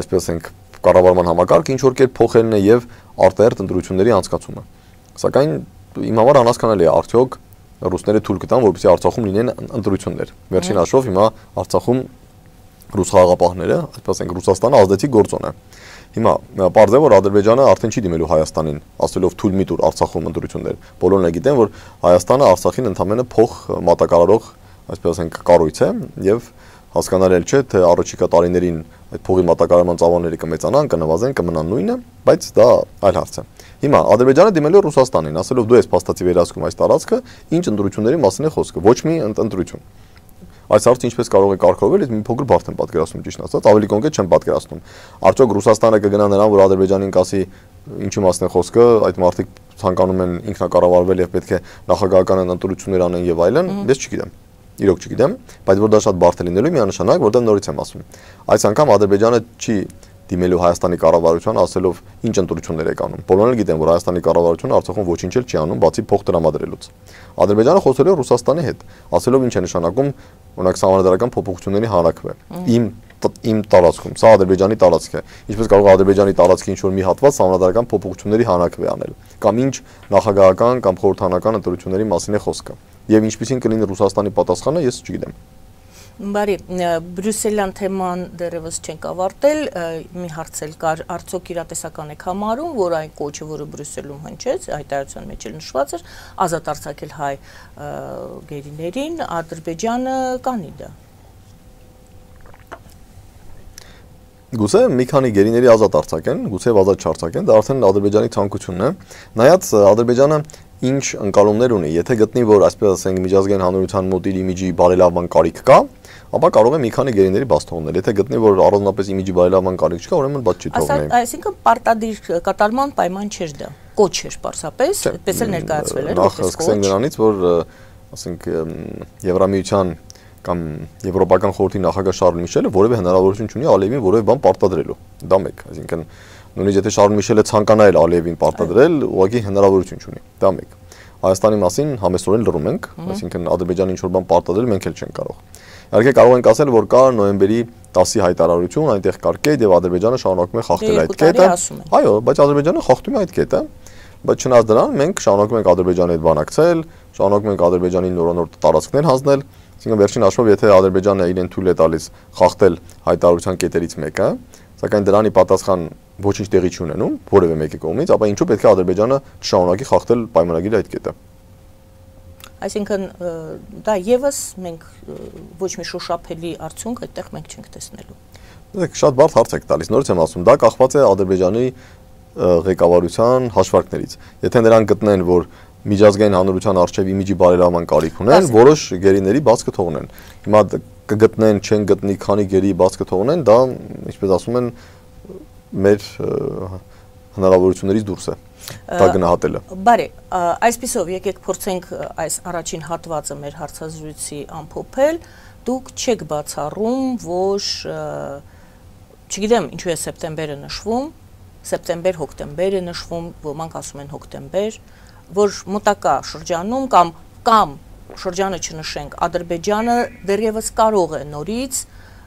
այսպես ենք կառավարման համակարգը ինչ որ կերպ փոխելն է եւ արտահերթ ընտրությունների անցկացումը։ Սակայն իմ համար անհասկանալի է արդյոք ռուսները թույլ կտան, որպեսզի Արցախում լինեն ընտրություններ։ Վերջին հաշվով հիմա Արցախում ռուս խաղաղապահները, այսպես ենք Ռուսաստանը ազդեցիկ գործոն է։ Հիմա պարզ է, որ Ադրբեջանը արդեն չի դիմելու Հայաստանին, ասելով թույլ մի տուր Արցախում ընտրություններ։ Բոլորն էլ գիտեն, որ Հայաստանը Արցախին ընդամենը փող մատակարարող, այսպես ասենք, կառույց է եւ հասկանալի չէ, թե առաջիկա տարիներին այդ փողի մատակարարման ծավալները կմեծանան, կնվազեն, կմնան նույնը, բայց դա այլ հարց է։ Հիմա Ադրբեջանը դիմել է Ռուսաստանին, ասելով դու ես փաստացի վերահսկում այս տարածքը, ինչ ընտրությունների մասին է խոսքը, ոչ մի ընտրություն։ Այս հարցը ինչպես կարող է կարգավորվել, մի փոքր բարդ եմ պատկերացնում ճիշտ ասած, ավելի կոնկրետ չեմ պատկերացնում։ Արդյոք Ռուսաստանը կգնա նրան, որ Ադրբեջանին կասի ինչի մասն է խոսքը, այդ մարդիկ ցանկանում են ինքնակառավարվել եւ պետք է նախագահական ընտրություններ անեն եւ այլն, ես չգիտեմ։ Իրոք չգիտեմ, բայց որ դա շատ բարդ է լինելու միանշանակ, որտեղ նորից եմ ասում։ Այս անգամ Ադրբեջանը չի դիմելու Հայաստանի կառավարությանը ասելով ինչ ընտրություններ եք անում։ Բոլորն էլ գիտեն, որ Հայաստանի կառավարությունը Արցախում ոչինչ էլ չի անում, բացի փող տրամադրելուց։ Ադրբեջանը խոսել է Ռուսաստանի հետ, ասելով ինչ է նշանակում, օրինակ սահմանադրական փոփոխությունների հանրակրվե։ Իմ տարածքում, սա Ադրբեջանի տարածք է։ Ինչպես կարող է Ադրբեջանի տարածքի ինչ-որ մի հատված սահմանադրական փոփոխությունների հանրակրվե անել, կամ ինչ նախագահական կամ խորհրդանական ընտրությունների մասին է խոսքը։ Եվ ինչպեսին կլինի Ռուսաստանի պատասխանը, ես չգիտեմ։ Բարի, Բրյուսելյան թեման դեռևս չենք ավարտել, մի հարց էլ կար, արդյոք իրատեսական եք համարում, որ այն կոչը, որը Բրյուսելում հնչեց, հայտարարության մեջ էլ նշված էր, ազատ արձակել հայ գերիներին, Ադրբեջանը կանի դա։ Գուցե մի քանի գերիների ազատ արձակեն, գուցե ազատ չարձակեն, դա արդեն Ադրբեջանի ցանկությունն է։ Նայած Ադրբեջանը ինչ ընկալումներ ունի, եթե գտնի, որ այսպես ասենք միջազգային հանրության մոտ իր իմիջի բարելավման կարիք կա, ապա կարող է մի քանի գերիների բաց թողնել։ Եթե գտնի, որ առանձնապես իմիջի բարելավման կարիք չկա, ուրեմն բաց չի թողնի։ Այսինքն պարտադիր կատարման պայման չէր դա։ Կոչ էր պարզապես, այդպես էլ ներկայացվել էր որպես կոչ։ Նախ սկսենք նրանից, որ ասենք Եվրամիության կամ Եվրոպական խորհրդի նախագահ Շարլ Միշելը որևէ հնարավորություն չունի Ալիևին որևէ բան պարտադրելու։ Դա մեկ, այսինքն նույնիսկ եթե Շարլ Միշելը ցանկանա էլ Ալիևին պարտադրել, ուղղակի հնարավորություն չունի։ Դա մեկ։ Հայաստանի մասին համեստորեն լռում ենք, այսինքն Ադրբեջանը ինչ-որ բան պարտադրել մենք էլ չենք կարող։ Իհարկե կարող ենք ասել, որ կա նոյեմբերի 10-ի հայտարարություն, այնտեղ կար կետ եւ Ադրբեջանը շարունակում է խախտել այդ կետը։ Այո, բայց Ադրբեջանը խախտում է այդ կետը, բայց չնայած դրան մենք շարունակում ենք Ադրբեջանի հետ բանակցել, շարունակում ենք Ադրբեջանին նորանոր տարածքներ հանձնել, այսինքն վերջին հաշվով եթե Ադրբեջանը իրեն թույլ է տալիս խախտել հայտարարության կետերից մեկը, սակայն դրանի պատասխան ոչինչ տեղի չի ունենում որևէ մեկի կողմից, ապա ինչու պետք է Ադրբեջանը շարունակի խախտել պայմանագիրը այդ կետը։ Այսինքն դա եւս մենք ոչ մի շոշափելի արդյունք այդտեղ մենք չենք տեսնելու։ Դեք շատ բարդ հարց եք տալիս, նորից եմ ասում, դա կախված է Ադրբեջանի ղեկավարության հաշվարկներից։ Եթե նրանք գտնեն, որ միջազգային հանրության արժեվ իմիջի բարելավման կարիք ունեն, որոշ գերիների բաց կթողնեն։ Հիմա կգտնեն, չեն գտնի, քանի գերի բաց կթողնեն, դա, ինչպես ասում են, մեր հնարավորություններից դուրս է։ Դա գնահատելը։ Բարի, այսպիսով եկեք փորձենք այս առաջին հատվածը մեր հարցազրույցի ամփոփել։ Դուք չեք բացառում, որ չգիտեմ, ինչու է սեպտեմբերը նշվում, սեպտեմբեր-հոկտեմբեր է նշվում, ոմանք ասում են հոկտեմբեր, որ մոտակա շրջանում կամ շրջանը չնշենք, Ադրբեջանը դեռևս կարող է նորից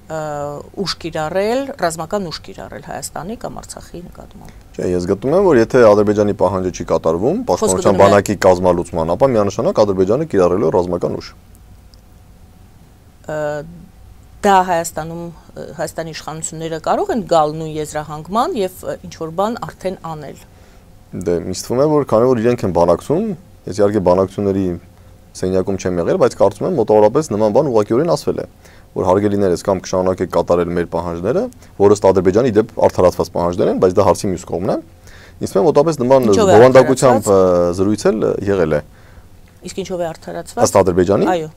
ուժ կիրառել, ռազմական ուժ կիրառել Հայաստանի կամ Արցախի նկատմամբ։ Չէ, ես գտնում եմ, որ եթե Ադրբեջանի պահանջը չի կատարվում, պաշտպանության բանակի կազմալուծման, ապա միանշանակ Ադրբեջանը կիրառելու ռազմական ուժ։ Դա Հայաստանի իշխանությունները կարող են գալ նույն եզրահանգման եւ ինչ-որ բան արդեն անել։ Դե ինձ թվում է, որ քանի որ իրենք են բանակցում, ես իհարկե բանակցությունների սենյակում չեմ եղել, բայց կարծում եմ մոտավորապես նման բան ուղղակիորեն ասվել է, որ հարգելիներս կամ կշարունակեք կատարել մեր պահանջները, որը Ադրբեջանի դեպ արդարացված պահանջներ են, բայց դա հարցի մյուս կողմն է։ Ինձ թվում է մոտավորապես նման բովանդակությամբ զրույց էլ եղել է։ Իսկ ինչով է արդարացված։ Ըստ Ադրբեջանի։ Այո։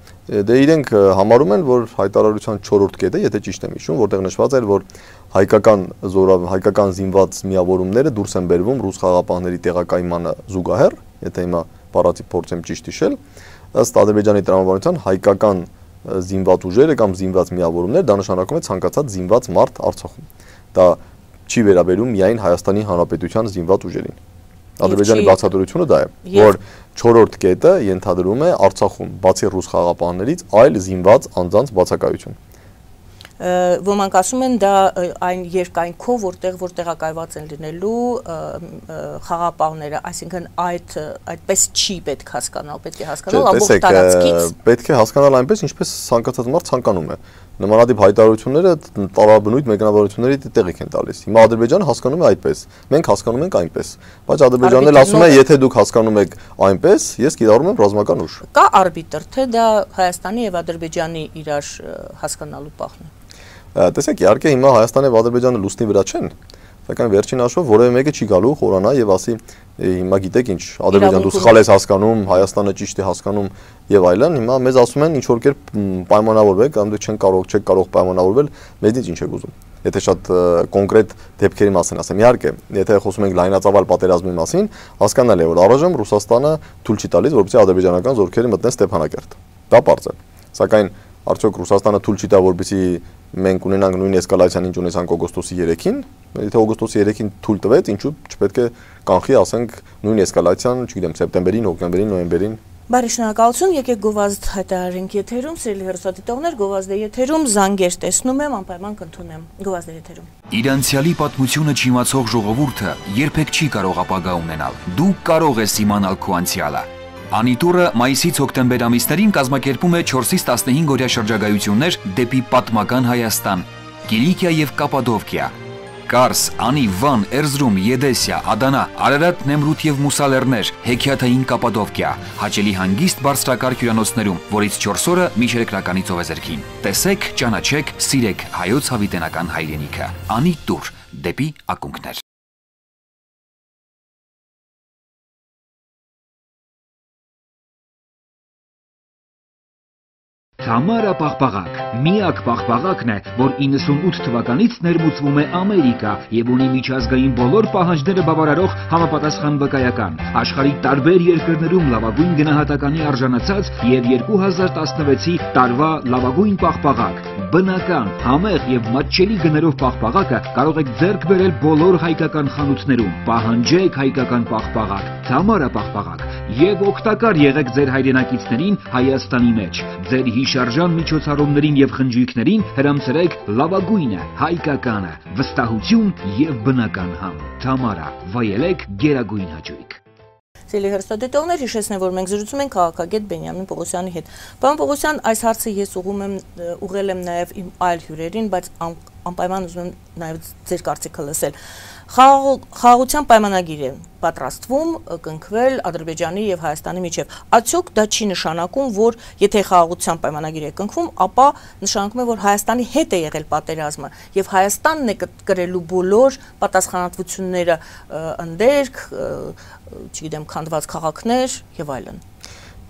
Դե իրենք համարում են, որ հայտարարության 4-րդ կետը, եթե ճիշտ եմ հիշում, որտեղ նշված էր, որ հայկական զինված միավորումները դուրս են բերվում ռուս խաղաղապահների տեղակայմանը զուգահեռ, եթե հիմա բառացի փորձեմ ճիշտ հիշել, ըստ Ադրբեջանի տրամաբանության հայկական զինված ուժերը կամ զինված միավորումներ, դա նշանակում է ցանկացած զինված մարդ Արցախում։ Դա չի վերաբերում միայն Հայաստանի Հանրապետության զինված ուժերին։ Ադրբեջանի բացատրությունը դա է, որ 4-րդ կետը ենթադրում է Արցախում, բացի ռուս խաղաղապահներից, այլ զինված անձանց բացակայություն։ Ոմանք ասում են դա այն երկայնքով, որտեղ տեղակայված են լինելու խաղապահները, այսինքն այդպես չի պետք հասկանալ, պետք է հասկանալ ամբողջ տարածքից։ Պետք է հասկանալ այնպես, ինչպես ցանկացած մարդ ցանկանում է։ Նմանատիպ հայտարարությունները տարաբնույթ մեկնաբանությունների տեղիք են տալիս։ Հիմա Ադրբեջանը հասկանում է այդպես, մենք հասկանում ենք այնպես, բայց Ադրբեջանն էլ ասում է, եթե դուք հասկանում եք այնպես, ես կիրառում եմ ռազմական ուժ։ Կա արբիտր, թե դա Հայաստանի եւ Ադրբեջանի իրար հասկանալու պահն է։ Տեսեք, իհարկե հիմա Հայաստանը եւ Ադրբեջանը լուսնի վրա չեն, սակայն վերջին հաշվով որևէ մեկը չի գալու խորանա եւ ասի հիմա գիտեք ինչ, Ադրբեջանը դու սխալ ես հասկանում, Հայաստանը ճիշտ է հասկանում եւ այլն, հիմա մեզ ասում են ինչ որ կերպ պայմանավորվեք, կամ դուք չեք կարող պայմանավորվել, մեզնից ինչ եք ուզում։ Եթե շատ կոնկրետ դեպքերի մասին ասեմ, իհարկե, եթե խոսում ենք լայնածավալ պատերազմի մասին, հասկանալի է, որ առայժմ Ռուսաստանը թույլ չի տալիս, որպեսզի ադրբեջանական զորքերը մտնեն Ստեփանակերտ։ Դա պարզ է։ Սակայն արդյոք Ռուսաստանը թույլ չի տա, որպեսզի մենք ունենանք նույն էսկալացիան, ինչ ունեցանք օգոստոսի 3-ին, եթե օգոստոսի 3-ին թույլ տվեց, ինչու չպետք է կանխի, ասենք, նույն էսկալացիան, չգիտեմ, սեպտեմբերին, հոկտեմբերին, նոյեմբերին։ Բարի շնորհակալություն, եկեք գովազդ հայտարարենք եթերում, սիրելի հեռուստադիտողներ, գովազդի եթերում զանգեր տեսնում եմ, անպայման կընդունեմ գովազդի եթերում։ Իր անցյալի պատմությունը չիմացող ժողովուրդը երբեք չի կարող ապագա ունենալ։ Դու կարող ես իմանալ քո անցյալը։ Անիտուրը մայիսից հոկտեմբեր ամիսներին կազմակերպում է 4-ից 15 օրյա շրջագայություններ դեպի պատմական Հայաստան, Կիլիկիա եւ Կապադովկիա, Կարս, Անի, Վան, Էրզրում, Եդեսիա, Ադանա, Արարատ, Նեմրութ եւ Մուսալերներ, Հեքիաթային Կապադովկիա, հաճելի հանգիստ բարձրակարգ հյուրանոցներում, որից 4 օրը միջերկրականի ծովեզերքին։ Տեսեք, ճանաչեք, սիրեք հայոց հավիտենական հայրենիքը։ Անիտուր դեպի ակունքներ։ Թամարա պաղպաղակ, միակ պաղպաղակն է, որ 98 թվականից ներմուծվում է Ամերիկա եւ ունի միջազգային բոլոր պահանջները բավարարող համապատասխան վկայական, աշխարհի տարբեր երկրներում լավագույն գնահատականի արժանացած եւ 2016-ի տարվա լավագույն պաղպաղակ, բնական, համեղ եւ մատչելի գներով պաղպաղակը կարող եք ձեռք բերել բոլոր հայկական խանութներում, պահանջեք հայկական պաղպաղակ, Թամարա պաղպաղակ եւ օգտակար եղեք ձեր հայրենակիցներին Հայաստանի մեջ, ձեր հիշարժան միջոցառումներին եւ խնջույքներին հրամցրեք լավագույնը, հայկականը, վստահություն եւ բնական համ։ Թամարա, վայելեք գերագույն հաճույք։ Սիրելի հեռուստադիտողներ, հիշեցնեմ, որ մենք զրուցում ենք քաղաքագետ Բենյամին Պողոսյանի հետ։ Պարոն Պողոսյան, այս հարցը ես ուղղել եմ նաև իմ այլ հյուրերին, բայց անպայման ուզում եմ նաև ձեր կարծիքը լսել։ Խաղաղության պայմանագիր է պատրաստվում կնքվել Ադրբեջանի եւ Հայաստանի միջև։ Արդյոք դա չի նշանակում, որ եթե խաղաղության պայմանագիր է կնքվում, ապա նշանակում է, որ Հայաստանի հետ է եղել պատերազմը եւ Հայաստանն է կրելու բոլոր պատասխանատվությունները, ընդերք, չգիտեմ, քանդված քաղաքներ եւ այլն։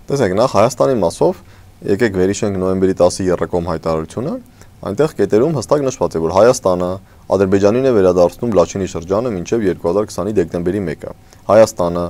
Տեսեք, նախ Հայաստանի մասով եկեք վերհիշենք նոյեմբերի 10-ի Եռակոմ հայտարարությունը, այնտեղ կետերում հստակ նշված է, որ Հայաստանը Ադրբեջանին է վերադարձնում Լաչինի շրջանը մինչև 2020-ի դեկտեմբերի 1-ը։ Հայաստանը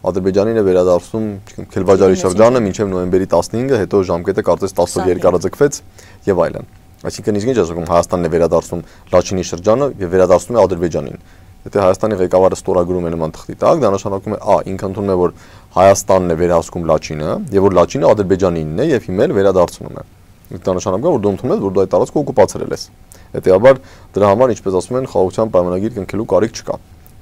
Ադրբեջանին է վերադարձնում Քելվաջարի շրջանը մինչև նոյեմբերի 15-ը, հետո ժամկետը կարծես 10 օր երկարաձգվեց եւ այլն։ Այսինքն ինչ ասում Հայաստանն է վերադարձնում Լաչինի շրջանը եւ վերադարձնում է Ադրբեջանին։ Եթե Հայաստանի ղեկավարը ստորագրում է նման թղթի տակ, դա նշանակում է ինքը ընդունում է, որ Հայաստանն է վերահսկում Լաչինը եւ որ Լաչինը Ադրբեջանինն է եւ հիմա էլ վերադարձնում է։ Դա նշանակում է, որ դու ընդունում ես, որ դու այդ տարածքը օկուպացրել ես։ Հետեւաբար դրա համար, ինչպես ասում են, խաղաղության պայմանագիր կնքելու կարիք չկա։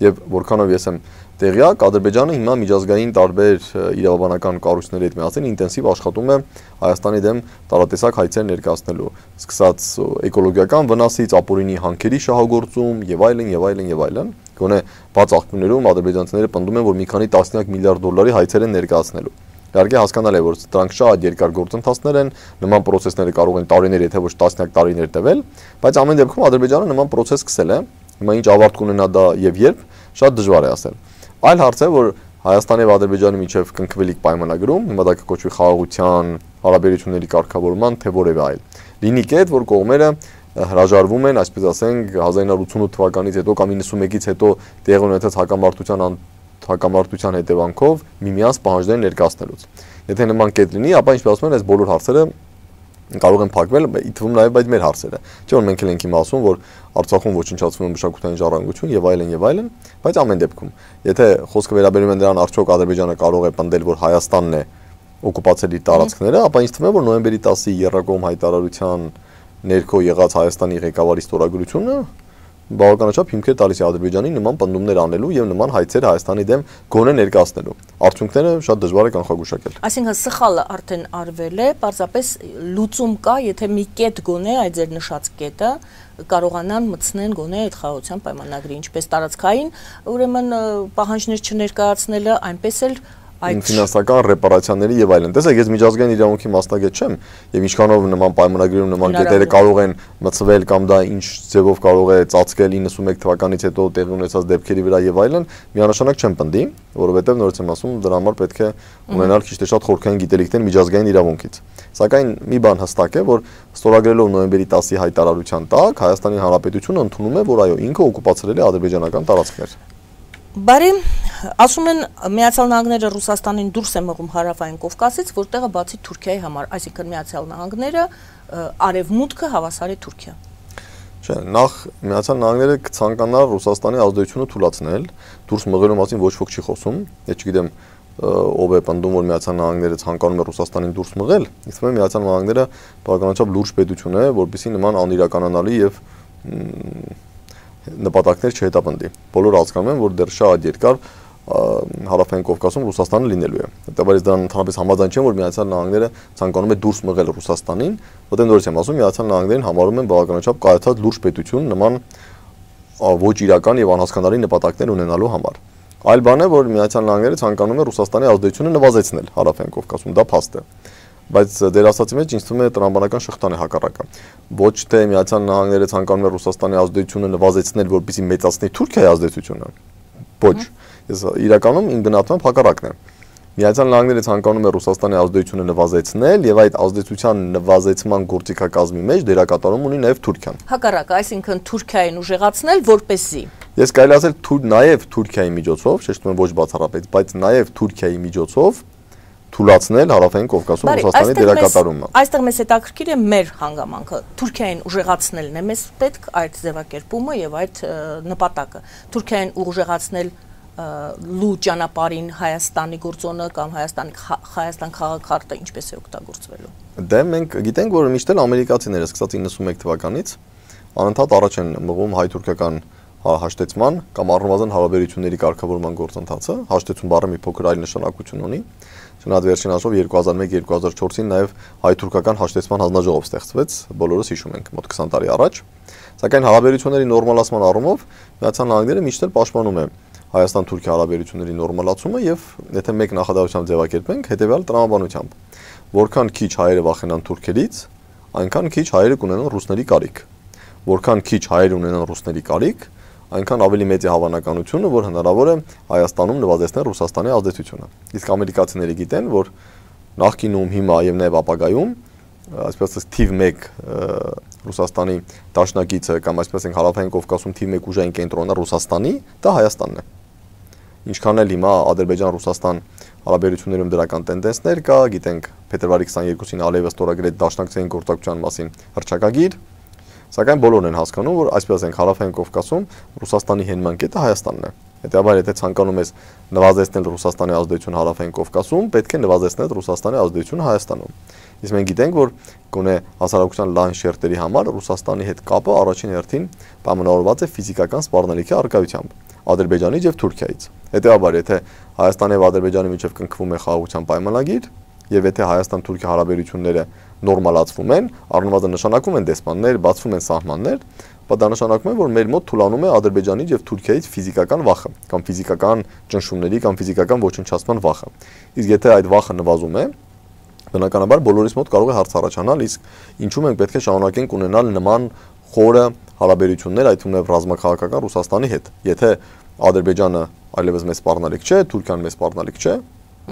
Եվ որքանով ես եմ տեղյակ, Ադրբեջանը հիմա միջազգային տարբեր իրավաբանական կառույցների հետ միասին ինտենսիվ աշխատում է Հայաստանի դեմ տարատեսակ հայցեր ներկայացնելու, սկսած էկոլոգիական վնասից, ապօրինի հանքերի շահագործում եւ այլն եւ այլն եւ այլն։ Գոնե բաց աղբյուրներում ադրբեջանցիները պնդում են, որ մի քանի տասնյակ միլիարդ դոլարի հայցեր են ներկայացնելու։ Իհարկե հասկանալի է, որ դրանք շատ երկար գործընթացներ են, նման process-ները կարող են տարիներ, եթե ոչ տասնյակ տարիներ տևել, բայց ամեն դեպքում Ադրբեջանը նման process սկսել է, հիմա ինչ ավարտ կունենա դա եւ երբ, շատ դժվար է ասել։ Այլ հարց է, որ Հայաստանի եւ Ադրբեջանի միջև կնքվելիք պայմանագրում, հիմա դա կկոչվի խաղաղության հարաբերությունների կարգավորման, թե որևէ այլ։ Լինի կետ, որ կողմերը հրաժարվում են, այսպես ասենք, 1988 թվականից հետո կամ 91-ից հետո տեղի ունեցած հակամարտության հետևանքով միմյանց պահանջներ ներկայացնելուց։ Եթե նման կետ լինի, ապա ինչպես ասում են, այս բոլոր հարցերը կարող են փակվել, ի թվում նաև այդ մեր հարցերը։ Չէ՞ որ մենք ենք հիմա ասում, որ Արցախում ոչնչացվում է մշակութային ժառանգություն եւ այլն, բայց ամեն դեպքում, եթե խոսքը վերաբերում է դրան, արդյոք Ադրբեջանը կարող է պնդել, որ Հայաստանն է օկուպացել իր տարածքները, ապա ինձ թվում է, որ նոյեմբերի 10-ի Եռակոմ հայտարարության ներքո եղած Հայաստանի ղեկավարի ստորագրությունը բավականաչափ հիմքեր տալիս է Ադրբեջանի նման պնդումներ անելու եւ նման հայցեր Հայաստանի դեմ գոնե ներկայացնելու։ Արդյունքները շատ դժվար է կանխագուշակել։ Այսինքն սխալը արդեն արվել է, պարզապես լուծում կա, եթե մի կետ գոնե այդ ձեր նշած կետը կարողանան մտցնեն գոնե այդ խաղաղության պայմանագրի, ինչպես տարածքային, ուրեմն պահանջներ չներկայացնելը, այնպես էլ ֆինանսական ռեպարացիաների եւ այլն։ Տեսեք, ես միջազգային իրավունքի մասնագետ չեմ եւ ինչքանով նման պայմանագրերում նման կետերը կարող են մցվել կամ դա ինչ ձևով կարող է ծածկել 91 թվականից հետո տեղի ունեցած դեպքերի վրա եւ այլն, միանշանակ չեմ պնդի, որովհետեւ նորից եմ ասում, դրա համար պետք է ունենալ քիչ թե շատ խորքային գիտելիքներ միջազգային իրավունքից։ Սակայն մի բան հստակ է, որ ստորագրելով նոյեմբերի 10-ի հայտարարության տակ Հայաստանի Հանրապետությունը ընդունում է, որ այո, ինքը օկուպացրել է ադրբեջանական տարածքներ։ Բարի, ասում են Միացյալ Նահանգները Ռուսաստանին դուրս է մղում հարավային Կովկասից, որտեղը բացի Թուրքիայի համար, այսինքն Միացյալ Նահանգները արևմուտքը հավասար է Թուրքիա։ Չէ, նախ Միացյալ Նահանգները կցանկանա Ռուսաստանի ազդեցությունը թույլատնել, դուրս մղելու մասին ոչ ոք չի խոսում, ես չգիտեմ ով է պնդում, որ Միացյալ Նահանգները ցանկանում է Ռուսաստանին դուրս մղել, իսկ Միացյալ Նահանգները բավականաչափ լուրջ պետություն է, որպեսզի նման անիրականանալի եւ նպատակներ չհետապնդի։ Բոլորը հասկանում են, որ դեռ շատ երկար հարավային Կովկասում Ռուսաստանը լինելու է։ Հետևաբար ես դրան ընդհանրապես համաձայն չեմ, որ Միացյալ Նահանգները ցանկանում է դուրս մղել Ռուսաստանին, որտեղ նորից եմ ասում, Միացյալ Նահանգներին համարում են բավականաչափ կայացած լուրջ պետություն նման ոչ իրական եւ անհասկանալի նպատակներ ունենալու համար։ Այլ բան է, որ Միացյալ Նահանգները ցանկանում է Ռուսաստանի ազդեցությունը նվազեցնել հարավային Կովկասում, դա փաստ է։ Բայց դեր ասացի մեջ ինձ թվում է տրամաբանական շղթան է հակառակը։ Ոչ թե Միացյալ Նահանգները ցանկանում է Ռուսաստանի ազդեցությունը նվազեցնել, որպեսզի մեծացնի Թուրքիայի ազդեցությունը։ Ոչ, ես իրականում իմ գնահատմամբ հակառակն է։ Միացյալ Նահանգները ցանկանում է Ռուսաստանի ազդեցությունը նվազեցնել եւ այդ ազդեցության նվազեցման գործիքակազմի մեջ դերակատարում ունի նաեւ Թուրքիան։ Հակառակը, այսինքն Թուրքիային ուժեղացնել, որպեսզի։ Ես կարելի ասել նաեւ Թուրքիայի միջոցով, շեշտում եմ ոչ բացառապես, բայց նաեւ Թուրքիայի միջոցով թույլատնել հարավային Կովկասում Ռուսաստանի դերակատարումը։ Այստեղ մեզ հետաքրքիր է մեր հանգամանքը։ Թուրքիային ուժեղացնելն է մեզ պետք այդ ձևակերպումը եւ այդ նպատակը։ Թուրքիային ուժեղացնել լու ճանապարհին Հայաստանի գործոնը կամ Հայաստան քաղաքարտը ինչպես է օգտագործվելու։ Դե մենք գիտենք, որ միշտ էլ ամերիկացիները սկսած 91 թվականից անընդհատ առաջ են մղում հայ-թուրքական հաշտեցման կամ առնվազն հարաբերությունների կարգավորման գործընթացը։ Հաշտեցում բառը մի փոքր այլ նշանակություն ունի։ Չնայած վերջին հաշվով 2001-2004-ին նաև հայ-թուրքական հաշտեցման հանձնաժողով ստեղծվեց, բոլորս հիշում ենք, մոտ 20 տարի առաջ։ Սակայն հարաբերությունների նորմալացման առումով Միացյալ Նահանգները միշտ էլ պաշտպանում է Հայաստան-Թուրքիա հարաբերությունների նորմալացումը եւ եթե մեկ նախադասությամբ ձևակերպենք, հետեւյալ տրամաբանությամբ, որքան քիչ հայերը վախենան թուրքերից, այնքան քիչ հայերը կունենան ռուսների կարիք։ Որքան քիչ հայեր ունենան ռուսների կարիք, այնքան ավելի մեծ է հավանականությունը, որ հնարավոր է Հայաստանում նվազեցնել Ռուսաստանի ազդեցությունը։ Իսկ ամերիկացիները գիտեն, որ նախկինում, հիմա եւ նաեւ ապագայում, այսպես ասած, թիվ 1 Ռուսաստանի դաշնակիցը կամ այսպես ասենք հարավային Կովկասում թիվ 1 ուժային կենտրոնը Ռուսաստանի, դա Հայաստանն է։ Ինչքան էլ հիմա Ադրբեջան-Ռուսաստան հարաբերություններում դրական տենդենսներ կա, գիտենք փետրվարի 22-ին Ալիևը ստորագրեց դաշնակցային գործակցության մասին հռչակագիր, սակայն բոլորն են հասկանում, որ այսպես ասենք հարավային Կովկասում Ռուսաստանի հենման կետը Հայաստանն է։ Հետևաբար, եթե ցանկանում ես նվազեցնել Ռուսաստանի ազդեցությունը հարավային Կովկասում, պետք է նվազեցնել Ռուսաստանի ազդեցությունը Հայաստանում։ Իսկ մենք գիտենք, որ գոնե հասարակության լայն շերտերի համար Ռուսաստանի հետ կապը առաջին հերթին պայմանավորված է ֆիզիկական սպառնալիքի առկայությամբ Ադրբեջանից եւ Թուրքիայից։ Հետևաբար, եթե Հայաստանի եւ Ադրբեջանի միջեւ կնքվում է խաղաղության պայմանագիր, եւ եթե Հայաստան-Թուրքիա հարաբերությունները նորմալացվում են, առնվազն նշանակում են դեսպաններ, բացվում են սահմաններ, դա նշանակում է, որ մեր մոտ թուլանում է Ադրբեջանից եւ Թուրքիայից ֆիզիկական վախը, կամ ֆիզիկական ճնշումների կամ ֆիզիկական ոչնչացման վախը։ Իսկ եթե այդ վախը նվազում է, բնականաբար բոլորիս մոտ կարող է հարց առաջանալ, իսկ ինչու մենք պետք է շարունակենք ունենալ նման խորը հարաբերություններ, այդ թվում է ռազմաքաղաքական Ռուսաստանի հետ։ Եթե Ադրբեջանը այլևս մեծ սպառնալիք չէ, Թուրքիան մեծ սպառնալիք չէ,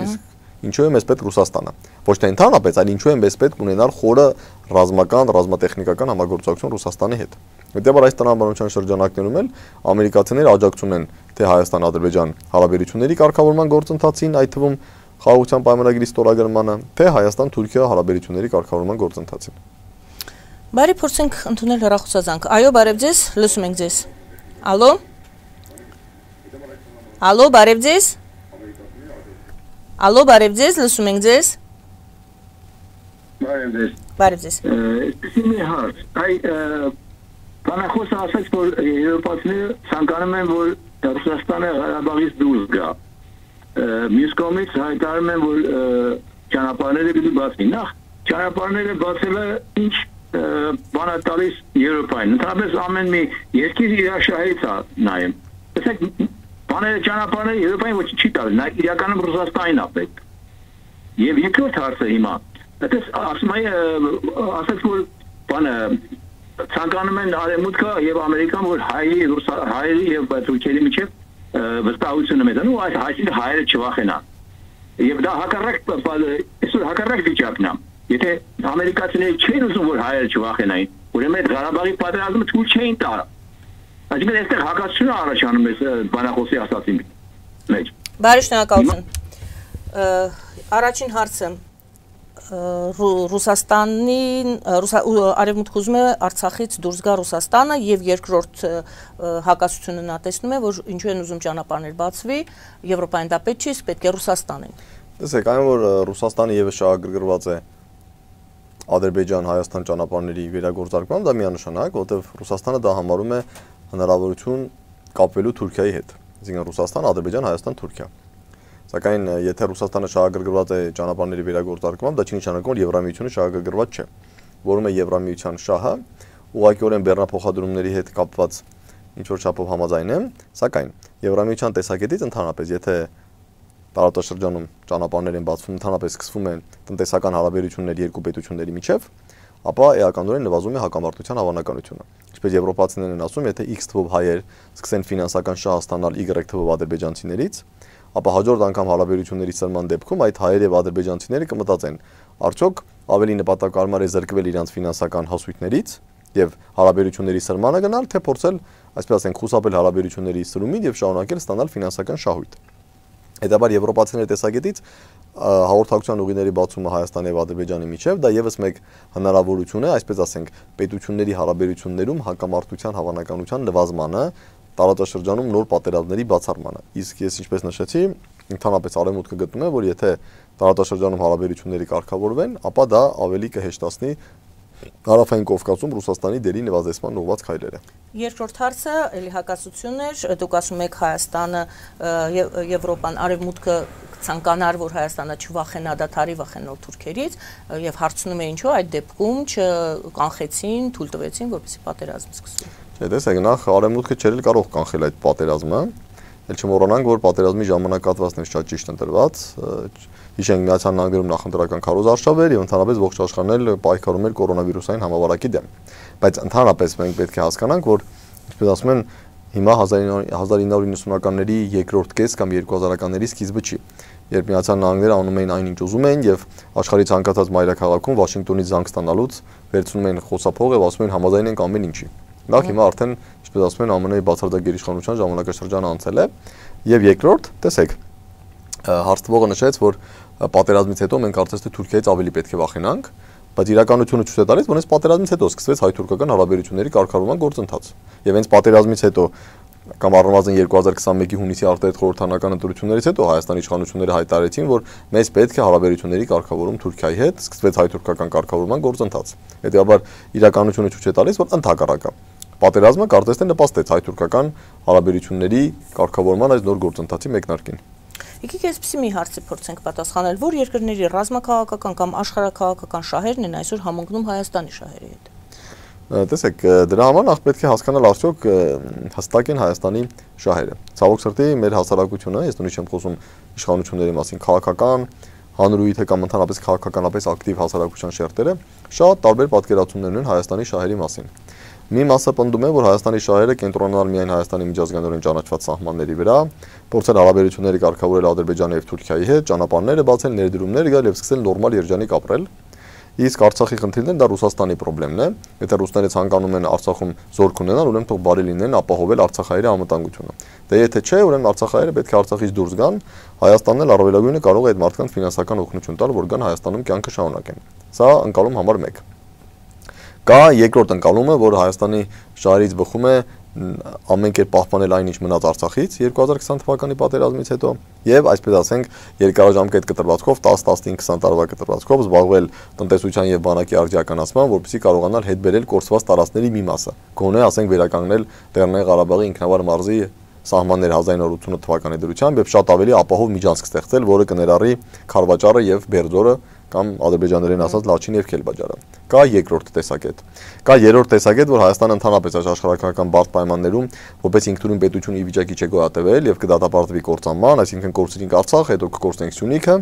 իսկ ինչու է մեզ պետք Ռուսաստանը։ Ոչ թե ընդհանրապես, այլ ինչու է մեզ պետք ունենալ խորը ռազմական, ռազմատեխնիկական համագործակցություն Ռուսաստանի հետ։ Հետևաբար այս տնաբանության շրջանակներում էլ ամերիկացիները աջակցում են թե Հայաստան-Ադրբեջան հարաբերությունների կարգավորման գործընթացին, այդ թվում խաղաղության պայմանագրի ստորագրմանը, թե Հայաստան-Թուրքիա հարաբերությունների կարգավորման գործընթացին։ Բարի, փորձենք ընդունել հեռախոսազանգ։ Այո, բարև ձեզ, լսում ենք ձեզ։ Ալո։ Ալո, բարև ձեզ։ Ալո, բարև ձեզ, լսում ենք ձեզ։ Բարև ձեզ։ Այսպեսի մի հարց, բանախոսը ասաց, որ եվրոպացիները ցանկանում են, որ Ռուսաստանը Ղարաբաղից դուրս գա։ Մյուս կողմից հայտարարում են, որ ճանապարհները պիտի բացվի։ Նախ ճանապարհները բացելը ինչ բան է տալիս Եվրոպային։ Ընդհանրապես ամեն մի երկիր իր շահերից է նայում։ Տեսեք, բաները ճանապարհները Եվրոպային ոչ չի տալիս, նա իրականում Ռուսաստանին է պետք։ Եվ երկրորդ հարցը հիմա, այդպես ասում ասաց, որ բանը ցանկանում են Արևմուտքը եւ Ամերիկան, որ հայերի եւ թուրքերի միջեւ վստահությունը մեծանա, ու այսինքն հայերը չվախենան։ Եվ դա այսօր հակառակ վիճակն է։ Եթե ամերիկացիները չեն ուզում, որ հայերը չվախենային, ուրեմն այդ Ղարաբաղի պատերազմը թույլ չէին տա։ Այսինքն այստեղ հակասություն առաջանում է բանախոսի ասածի մեջ։ Բարի շնորհակալություն։ Առաջին հարցը Ռուսաստանին Արևմուտքը ուզում է Արցախից դուրս գա Ռուսաստանը եւ երկրորդ հակասությունը նա տեսնում է, որ ինչու են ուզում ճանապարհներ բացվի, Եվրոպային դա պետք չի, պետք է Ռուսաստանին։ Տեսեք, այն որ Ռուսաստանը եւս շահագրգռված է Ադրբեջան-Հայաստան ճանապարհների վերագործարկման, դա միանշանակ, որովհետեւ Ռուսաստանը դա համարում է հնարավորություն կապվելու Թուրքիայի հետ։ Այսինքն Ռուսաստան, Ադրբեջան, Հայաստան, Թուրքիա։ Սակայն եթե Ռուսաստանը շահագրգռված է ճանապարհների վերագործարկմամբ, դա չի նշանակում, որ Եվրամիությունը շահագրգռված չէ։ Որում է Եվրամիության շահը, ուղղակիորեն բեռնափոխադրումների հետ կապված ինչ որ չափով համաձայն եմ, սակայն Եվրամիության տեսակետից ընդհանրապես, եթե տարածաշրջանում ճանապարհներ են բացվում, ընդհանրապես սկսվում են տնտեսական հարաբերություններ երկու պետությունների միջև, ապա էականորեն նվազում է հակամարտության հավանականությունը։ Ինչպես եվրոպացիներն են ասում, եթե X թվով հայեր սկսեն ֆինանսական շահ ստանալ Y թվով ադրբեջանցիներից, ապա հաջորդ անգամ հարաբերությունների սրման դեպքում այդ հայեր եւ ադրբեջանցիները կմտածեն, արդյոք ավելի նպատակարար է զրկվել իրենց ֆինանսական հասույթներից եւ հարաբերությունների սրմանը գնալ, թե փորձել, այսպես ասենք, խուսափել հարաբերությունների սրումից եւ շարունակել ստանալ ֆինանսական շահույթ։ Հետաբար եվրոպացիների տեսակետից հաղորդակցության ուղիների բացումը Հայաստանի եւ Ադրբեջանի միջև դա եւս մեկ հնարավորություն է, այսպես ասենք, պետությունների հարաբերություններում հակամարտության հավանականության նվազմանը, տարածաշրջանում նոր պատերազմների բացառմանը։ Իսկ ես ինչպես նշեցի, ընդհանրապես Արևմուտքը գտնում է, որ եթե տարածաշրջանում հարաբերությունները կարգավորվեն, ապա դա ավելի կհեշտացնի Հարավային Կովկասում Ռուսաստանի դերի նվազեցման ուղղված քայլերը։ Երկրորդ հարցը էլի հակասություն էր, դուք ասում եք Հայաստանը, Եվրոպան, Արևմուտքը ցանկանար, որ Հայաստանը չվախենա դադարի վախենալ թուրքերից եւ հարցնում է ինչու այդ դեպքում չկանխեցին, թույլ տվեցին, որպեսզի պատերազմ սկսվի։ Տեսեք, նախ Արևմուտքը չէր կարող կանխել այդ պատերազմը, ել չմոռանանք, որ պատերազմի ժամանակահատվածն է շատ ճիշտ ընտրված, հիշենք Միացյալ Նահանգներում նախընտրական քարոզարշավ էր եւ ընդհանրապես ողջ աշխարհն էլ պայքարում էր կորոնավիրուսային համավարակի դեմ։ Բայց ընդհանրապես մենք պետք է հասկանանք, որ ինչպես ասում են, հիմա 1990-ականների երկրորդ կես կամ 2000-ականների սկիզբը չի, երբ Միացյալ Նահանգները անում էին այն ինչ ուզում էին եւ աշխարհի ցանկացած մայրաքաղաքում Վաշինգտոնից զանգ ստանալուց վերցնում էին խոսափող եւ ասում էին համաձայն ենք ամեն ինչի։ Նախ հիմա արդեն, ինչպես ասում են, ԱՄՆ-ի բացարձակ գերիշխանության ժամանակաշրջանը անցել է եւ երկրորդ, տեսեք, հարցվողը նշեց, որ պատերազմից հետո մենք կարծես թե Թուրքիայից ավելի պետք է վախենանք, բայց իրականությունը ցույց է տալիս, որ այս պատերազմից հետո սկսվեց հայ-թուրքական հարաբերությունների կարգավորման գործընթաց։ Եվ հենց պատերազմից հետո կամ առնվազն 2021-ի հունիսի արտահայտ խորհրդանական ընտրություններից հետո Հայաստանի իշխանությունները հայտարարեցին, որ մեզ պետք է հարաբերությունների կարգավորում Թուրքիայի հետ, սկսվեց հայ-թուրքական կարգավորման գործընթաց։ Հետևաբար իրականությունը ցույց է տալիս, որ ընդհակառակը պատերազմը կարծես թե նպաստեց հայ-թուրքական հարաբերությունների կարգավորման այս նոր գործընթացի մեկնարկին։ Եկեք այսպեսի մի հարցի փորձենք պատասխանել, որ երկրների ռազմաքաղաքական կամ աշխարհաքաղաքական շահերն են այսօր համընկնում Հայաստանի շահերի հետ։ Տեսեք, դրա համար նախ պետք է հասկանալ արդյոք հստակ են Հայաստանի շահերը։ Ցավոք սրտի մեր հասարակությունը, ես նույնիսկ չեմ խոսում իշխանությունների մասին, քաղաքական, հանրույթը կամ ընդհանրապես քաղաքականապես ակտիվ հասարակության շերտերը շատ տարբեր պատկերացումներ ունեն Հայաստանի շահերի մասին։ Մի մասը պնդում է, որ Հայաստանի շահերը կենտրոնանալ միայն Հայաստանի միջազգայինորեն ճանաչված սահմանների վրա, փորձել հարաբերությունները կարգավորել Ադրբեջանի եւ Թուրքիայի հետ, ճանապարհները բացել, ներդրումներ գալ եւ սկսել նորմալ երջանիկ ապրել։ Իսկ Արցախի խնդիրն դա Ռուսաստանի խնդիրն է։ Եթե ռուսները ցանկանում են Արցախում զորք ունենալ, ուրեմն թող բարի լինեն ապահովել արցախայերի անվտանգությունը։ Դե եթե չէ, ուրեմն արցախայերը պետք է Արցախից դուրս գան, Հայաստանն էլ առավելագույնը կարող է այդ մարդկանց ֆինանսական օգնություն տալ, որ գան Հայաստանում կյանքը շարունակեն։ Սա ընկալում համար 1։ Կա երկրորդ ընկալումը, որ Հայաստանի շահերից բխում է ամեն կերպ պահպանել այն ինչ մնաց Արցախից 2020 թվականի պատերազմից հետո եւ այսպես ասենք երկարաժամկետ կտրվածքով 10-15-20 տարվա կտրվածքով զբաղվել տնտեսության եւ բանակի արդիականացման, որպեսզի կարողանալ հետ բերել կորցված տարածքների մի մասը։ Գոնե ասենք վերականգնել Լեռնային Ղարաբաղի ինքնավար մարզի սահմաններ 1980 թվականի դրությամբ եւ շատ ավելի ապահով միջանցք ստեղծել, որը կներառի Խարվաճարը եւ Բերձորը կամ ադրբեջաներեն ասած Լաչին եւ Քելբաջարը։ Կա երկրորդ տեսակետ։ Կա երրորդ տեսակետ, որ Հայաստանը ընդհանրապես աշխարհական բարդ պայմաններում որպես ինքնուրույն պետություն ի վիճակի չէ գոյատևել եւ կդատապարտվի կործանման, այսինքն կորցրինք Արցախ, հետո կկորցնենք Սյունիքը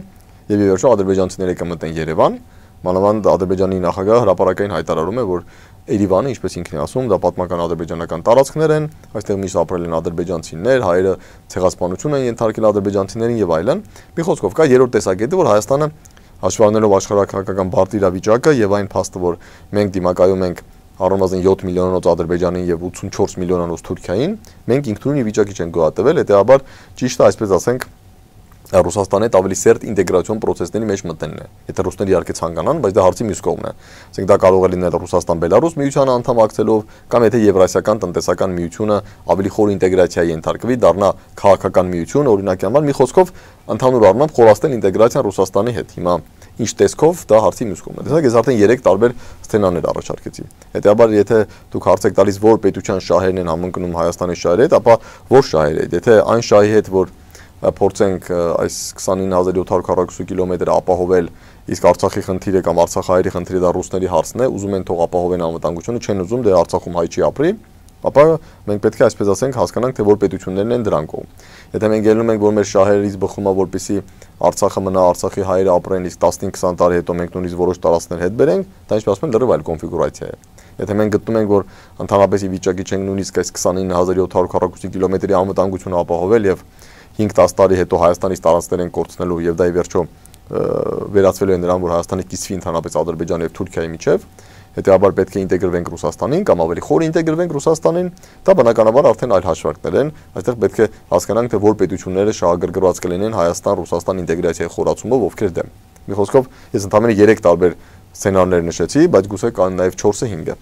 եւ ի վերջո ադրբեջանցիները կմտնեն Երևան։ Մանավանդ Ադրբեջանի նախագահը հրապարակային հայտարարում է, որ Երևանը, ինչպես ինքն է ասում, դա պատմական ադրբեջանական տարածքներ են, այստեղ միշտ ապրել են ադրբեջանցիներ, հայերը ցեղասպանություն են ենթարկել ադրբեջանցիներին եւ այլն։ Մի խոսքով կա երրորդ տեսակետը, որ Հայաստանը հաշվառնելով աշխարհակական բարդ իրավիճակը եւ այն փաստը, որ մենք դիմակայում ենք առնվազն 7 միլիոնանոց Ադրբեջանին եւ 84 միլիոնանոց Թուրքիային, մենք ինքնուրույն վիճակի չենք գոյատևել, հետեւաբար ճիշտ է այսպես ասենք Ռուսաստանի հետ ավելի սերտ ինտեգրացիոն process-ների մեջ մտնելն է։ Եթե ռուսները իհարկե ցանկանան, բայց դա հարցի մյուս կողմն է։ Ասենք դա կարող է լինել Ռուսաստան-Բելարուս միությանը անդամակցելով, կամ եթե Եվրասիական տնտեսական միությունը ավելի խոր ինտեգրացիայի ենթարկվի, դառնա քաղաքական միություն, օրինակի համար մի խոսքով ընդհանուր առմամբ խորացնել ինտեգրացիան Ռուսաստանի հետ։ Հիմա ինչ տեսքով դա հարցի մյուս կողմն է։ Տեսեք, ես արդեն 3 տարբեր սցենարներ առաջարկեցի։ Հետեւաբար եթե դուք հարց եք տալիս, որ պետության շահերն են համընկնում Հայաստանի շահերի հետ, ապա որ շահերի հետ։ Եթե այն շահի հետ, որ փորձենք այս 29740 կիլոմետր ապահովել, իսկ Արցախի խնդիրը կամ Արցախահայերի խնդիրը դա ռուսների հարցն է, ուզում են թող ապահովեն անվտանգությունը, չեն ուզում դե Արցախում հայ չի ապրի, ապա մենք պետք է այսպես ասենք հասկանանք, թե որ պետություններն են դրանք կողմ։ Եթե մենք ելնում ենք, որ մեր շահերից բխում է, որպեսզի Արցախը մնա, Արցախի հայերը ապրեն, իսկ 15-20 տարի հետո մենք նույնիսկ որոշ տարածքներ հետ բերենք, դա ինչպես ասում են լրիվ այլ կոնֆիգուրացիա է։ Եթե մենք գտնում ենք, որ ընդհանրապես ի վիճակի չենք նույնիսկ այս 29740 կիլոմետրի անվտանգությունը ապահովել եւ 5-10 տարի հետո Հայաստանից տարածքներ են կորցնելու եւ դա ի վերջո վերածվելու է նրան, որ Հայաստանի կիսվի ընդհանրապես Ադրբեջանի եւ Թուրքիայի միջեւ, հետեւաբար պետք է ինտեգրվենք Ռուսաստանին կամ ավելի խոր ինտեգրվենք Ռուսաստանին, դա բնականաբար արդեն այլ հաշվարկներ են, այստեղ պետք է հասկանանք, թե որ պետությունները շահագրգռված կլինեն Հայաստան-Ռուսաստան ինտեգրացիայի խորացումով, ովքեր դեմ։ Մի խոսքով ես ընդհանրապես 3 տարբեր սցենարներ նշեցի, բայց գուցե կան նաեւ 4-ը 5-ը։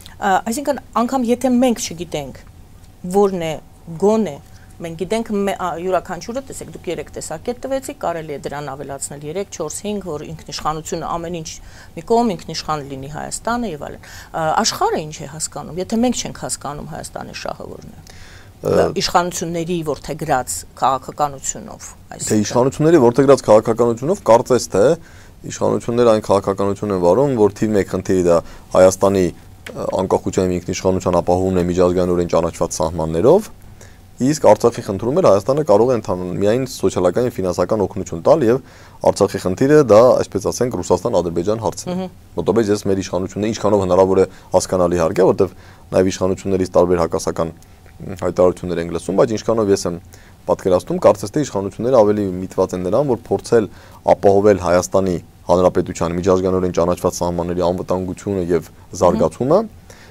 Այսինքն անգամ եթե մենք չգիտենք որն է գոնե մենք գիտենք յուրաքանչյուրը, տեսեք, դուք 3 տեսակետ տվեցիք, կարելի է դրան ավելացնել 3, 4, 5, որ ինքնիշխանությունը ամեն ինչ մի կողմ ինքնիշխան լինի Հայաստանը եւ այլն։ Աշխարհը ինչ է հասկանում, եթե մենք չենք հասկանում Հայաստանի շահը որն է։ Իշխանությունների որդեգրած քաղաքականությունով, այսինքն թե իշխանությունների որդեգրած քաղաքականությունով կարծես թե իշխանությունները այն քաղաքականություն են վարում, որ թիվ 1 խնդիրը դա Հայաստանի անկախության եւ ինքնիշխանության ապահովումն է միջազգայինորեն ճանաչված սահմաններով, իսկ Արցախի խնդրում էր Հայաստանը կարող է ընդհանուր միայն սոցիալական եւ ֆինանսական օգնություն տալ եւ Արցախի խնդիրը դա այսպես ասենք Ռուսաստան-Ադրբեջան հարցն է։ Մոտավորապես ես մեր իշխանությունները ինչքանով հնարավոր է հասկանալի հարկ է, որտեվ նաեւ իշխանություններից տարբեր հակասական հայտարարություններ են լսում, բայց ինչքանով ես եմ պատկերացնում, կարծես թե իշխանությունները ավելի միտված են նրան, որ փորձել ապահովել Հայաստանի Հանրապետության միջազգայինորեն ճանաչված սահմանների անվտանգությունը եւ զարգացումը,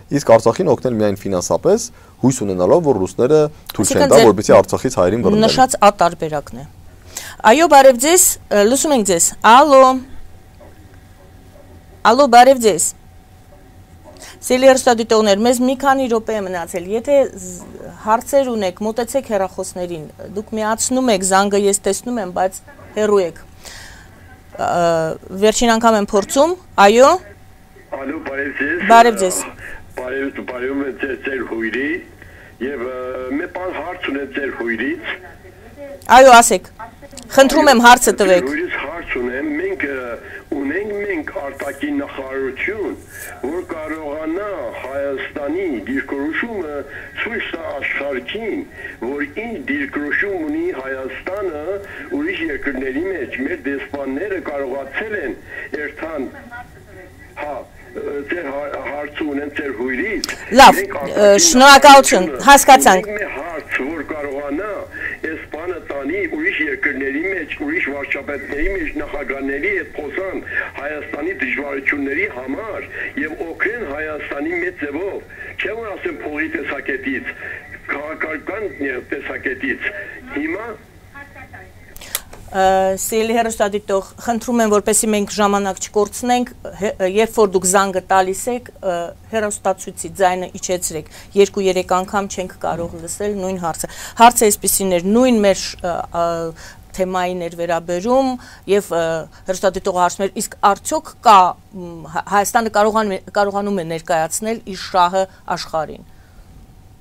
իսկ Արցախին օգնել միայն ֆինանսապես, հույս ունենալով, որ ռուսները թույլ չեն տա, որպեսզի Արցախից հայերին բռնեն։ Նշած ատարբերակն է։ Այո, բարև ձեզ, լսում ենք ձեզ։ Ալո։ Ալո, բարև ձեզ։ Սիրելի հեռուստադիտողներ, մեզ մի քանի րոպե է մնացել։ Եթե հարցեր ունեք, մոտեցեք հեռախոսներին։ Դուք միացնում եք զանգը, ես տեսնում եմ, բայց հեռու եք։ Վերջին անգամ եմ փորձում։ Այո։ Ալո, բարև ձեզ։ Բարև ձեզ։ Բարև ձեր հույրի եւ մի բան հարց ունեմ ձեր հույրից։ Այո, ասեք։ Խնդրում եմ հարցը տվեք։ Հույրից հարց ունեմ, մենք արտաքին նախարարություն, որ կարողանա Հայաստանի դիրքորոշումը ցույց տա աշխարհին, որ ինչ դիրքորոշում ունի Հայաստանը ուրիշ երկրների մեջ, մեր դեսպանները կարողացել են երթան ձեր հարցը ունեն ձեր հույրից։ Լավ, շնորհակալություն, հասկացանք։ Հարց, որ կարողանա այս բանը տանի ուրիշ երկրների մեջ, ուրիշ վարչապետների մեջ, նախագահների հետ խոսան Հայաստանի դժվարությունների համար եւ օգնեն Հայաստանի մեծ ձևով, չէ՞ որ ասեմ փողի տեսակետից, քաղաքական տեսակետից։ Հիմա Սիրելի հեռուստադիտող, խնդրում եմ, որպեսզի մենք ժամանակ չկորցնենք, երբ որ դուք զանգը տալիս եք, հեռուստացույցի ձայնը իջեցրեք, 2-3 անգամ չենք կարող լսել նույն հարցը։ Հարցը այսպիսին էր, նույն մեր թեմային էր վերաբերում եւ հեռուստադիտողը հարցնում էր, իսկ արդյոք կա Հայաստանը կարողանում է ներկայացնել իր շահը աշխարհին։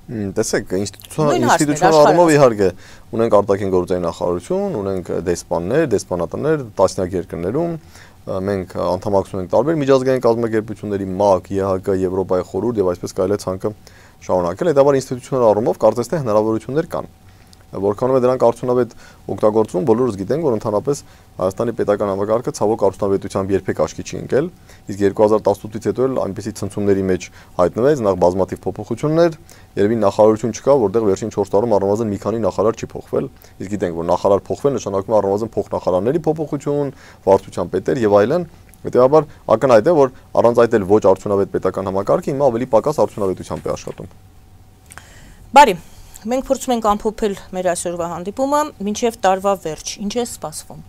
Տեսեք, ինստիտուցիոնալ առումով իհարկե ունենք արտաքին գործերի նախարարություն, ունենք դեսպաններ, դեսպանատներ տասնյակ երկրներում, մենք անդամակցում ենք տարբեր միջազգային կազմակերպությունների ՄԱԿ, ԵՀԿ, Եվրոպայի խորհուրդ եւ այսպես կարելի է ցանկը շարունակել, հետաբար ինստիտուցիոնալ առումով կարծես թե հնարավորություններ կան։ Որքանով է դրանք արդյունավետ օգտագործվում, բոլորս գիտենք, որ ընդհանրապես Հայաստանի պետական համակարգը ցավոք արդյունավետությամբ երբեք աչքի չի ընկել, իսկ 2018-ից հետո էլ այնպիսի ցնցումների մեջ հայտնվեց, նախ բազմաթիվ փոփոխություններ, երևի նախարարություն չկա, որտեղ վերջին 4 տարում առնվազն մի քանի նախարար չի փոխվել, իսկ գիտենք, որ նախարար փոխվել նշանակում է առնվազն փոխնախարարների փոփոխություն, վարչության պետեր եւ այլն, հետեւաբար ակնհայտ է, որ առանց այդ էլ ոչ արդյունավետ պետական համակարգը հիմա ավելի պակաս արդյունավետությամբ է աշխատում։ Բարի Մենք փորձում ենք ամփոփել մեր այսօրվա հանդիպումը, մինչև տարվա վերջ, ինչ է սպասվում։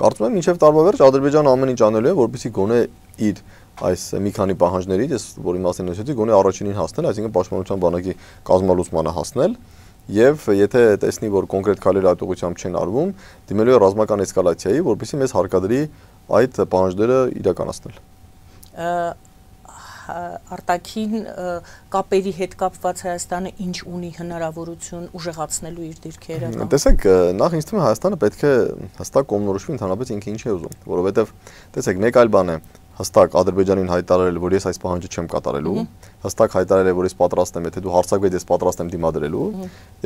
Կարծում եմ, մինչև տարվա վերջ Ադրբեջանը ամեն ինչ անելու է, որպեսզի գոնե իր այս մի քանի պահանջներից, ես որի մասին ասեցի, գոնե առաջինին հասնել, այսինքն պաշտպանության բանակի կազմալուծմանը հասնել, եւ եթե տեսնի, որ կոնկրետ քայլեր այդ ուղղությամբ չեն արվում, դիմելու է ռազմական էսկալացիայի, որպեսզի մեզ հարկադրի այդ պահանջները իրականացնել։ Արտաքին կապերի հետ կապված Հայաստանը ինչ ունի հնարավորություն ուժեղացնելու իր դիրքերը։ Տեսեք, նախ ինձ թվում է Հայաստանը պետք է հստակ կողմնորոշվի ընդհանրապես ինքը ինչ է ուզում, որովհետև տեսեք, մեկ այլ բան է հստակ Ադրբեջանին հայտարարել, որ ես այս պահանջը չեմ կատարելու, հստակ հայտարարել, որ ես պատրաստ եմ, եթե դու հարձակվես, ես պատրաստ եմ դիմադրելու,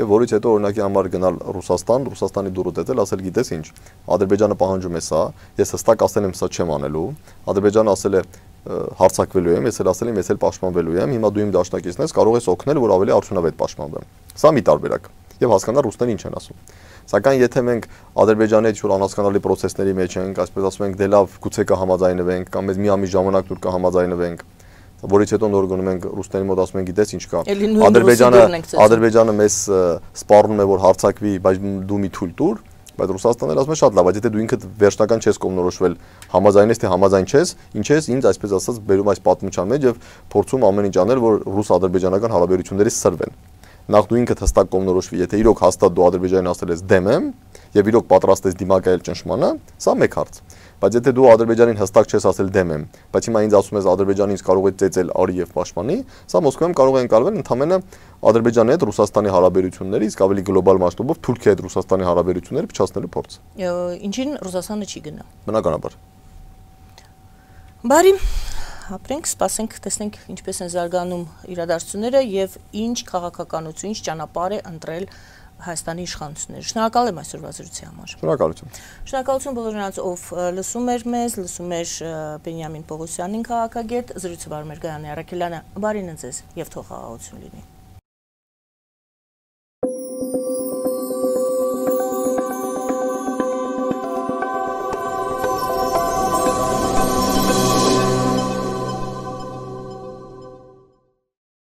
եւ որից հետո օրինակի համար գնալ Ռուսաստանի դուրը տետել, ասել գիտես ինչ, Ադրբեջանը պահանջում է սա, ես հստակ ասել եմ սա չեմ անելու, Ադրբեջանը ասել է հարցակվելու եմ, ես էլ ասել եմ, ես էլ պաշտպանվելու եմ, հիմա դու իմ դաշնակիցն ես, կարող ես օգնել, որ ավելի արդյունավետ պաշտպանվեմ։ Սա մի տարբերակ։ Եվ հասկանալ ռուսները ինչ են ասում։ Սակայն եթե մենք Ադրբեջանի հետ շուտ անհասկանալի process-ների մեջ ենք, այսպես ասում ենք, դե լավ, գուցե կհամաձայնվենք կամ մեզ մի ամիս ժամանակ դուր կհամաձայնվենք, որից հետո նոր գնում ենք ռուսների մոտ ասում ենք, գիտես ինչ կա։ Ադրբեջանը մեզ սպառնում է, որ հարցակվի, բայց դու մի թույլ տուր, բայց Ռուսաստանն էլ ասում է շատ լավ, բայց եթե դու ինքդ վերջնական չես կողմնորոշվել, համաձայնես թե համաձայն չես, ինչ ես ինձ այսպես ասած բերում այս պատմության մեջ եւ փորձում ամեն ինչ անել, որ ռուս-ադրբեջանական հարաբերությունները սրվեն։ Նախ դու ինքդ հստակ կողմնորոշվի, եթե իրոք հաստատ դու Ադրբեջանին ասել ես դեմ եմ եւ իրոք պատրաստ ես դիմակայել ճնշմանը, սա մեկ հարց։ Բայց եթե դու Ադրբեջանին հստակ չես ասել դեմ եմ, բայց հիմա ինձ ասում ես Ադրբեջանը ինձ կարող է ծեծել արի եւ պաշտպանի, սա Մոսկվայում կարող է ընկալվել ընդհանրապես Ադրբեջանի հետ Ռուսաստանի հարաբերությունների, իսկ ավելի գլոբալ մասշտաբով Թուրքիայի հետ Ռուսաստանի հարաբերությունները փչացնելու փորձ։ Ինչին Ռուսաստանը չի գնա։ Բնականաբար։ Բարի ապրենք, սպասենք, տեսնենք ինչպես են զարգանում իրադարձությունները եւ ինչ քաղաքականություն, ինչ ճանապարհ է ընտրել Հայաստանի իշխանությունները։ Շնորհակալ եմ այսօրվա զրույցի համար։ Շնորհակալություն։ Շնորհակալություն բոլոր նրանց, ով լսում էր մեզ, լսում էր Բենյամին Պողոսյանին, քաղաքագետ, զրույցը վարում էր Գայանե Առաքելյանը։ Բարին ձեզ եւ թող խաղաղություն լինի։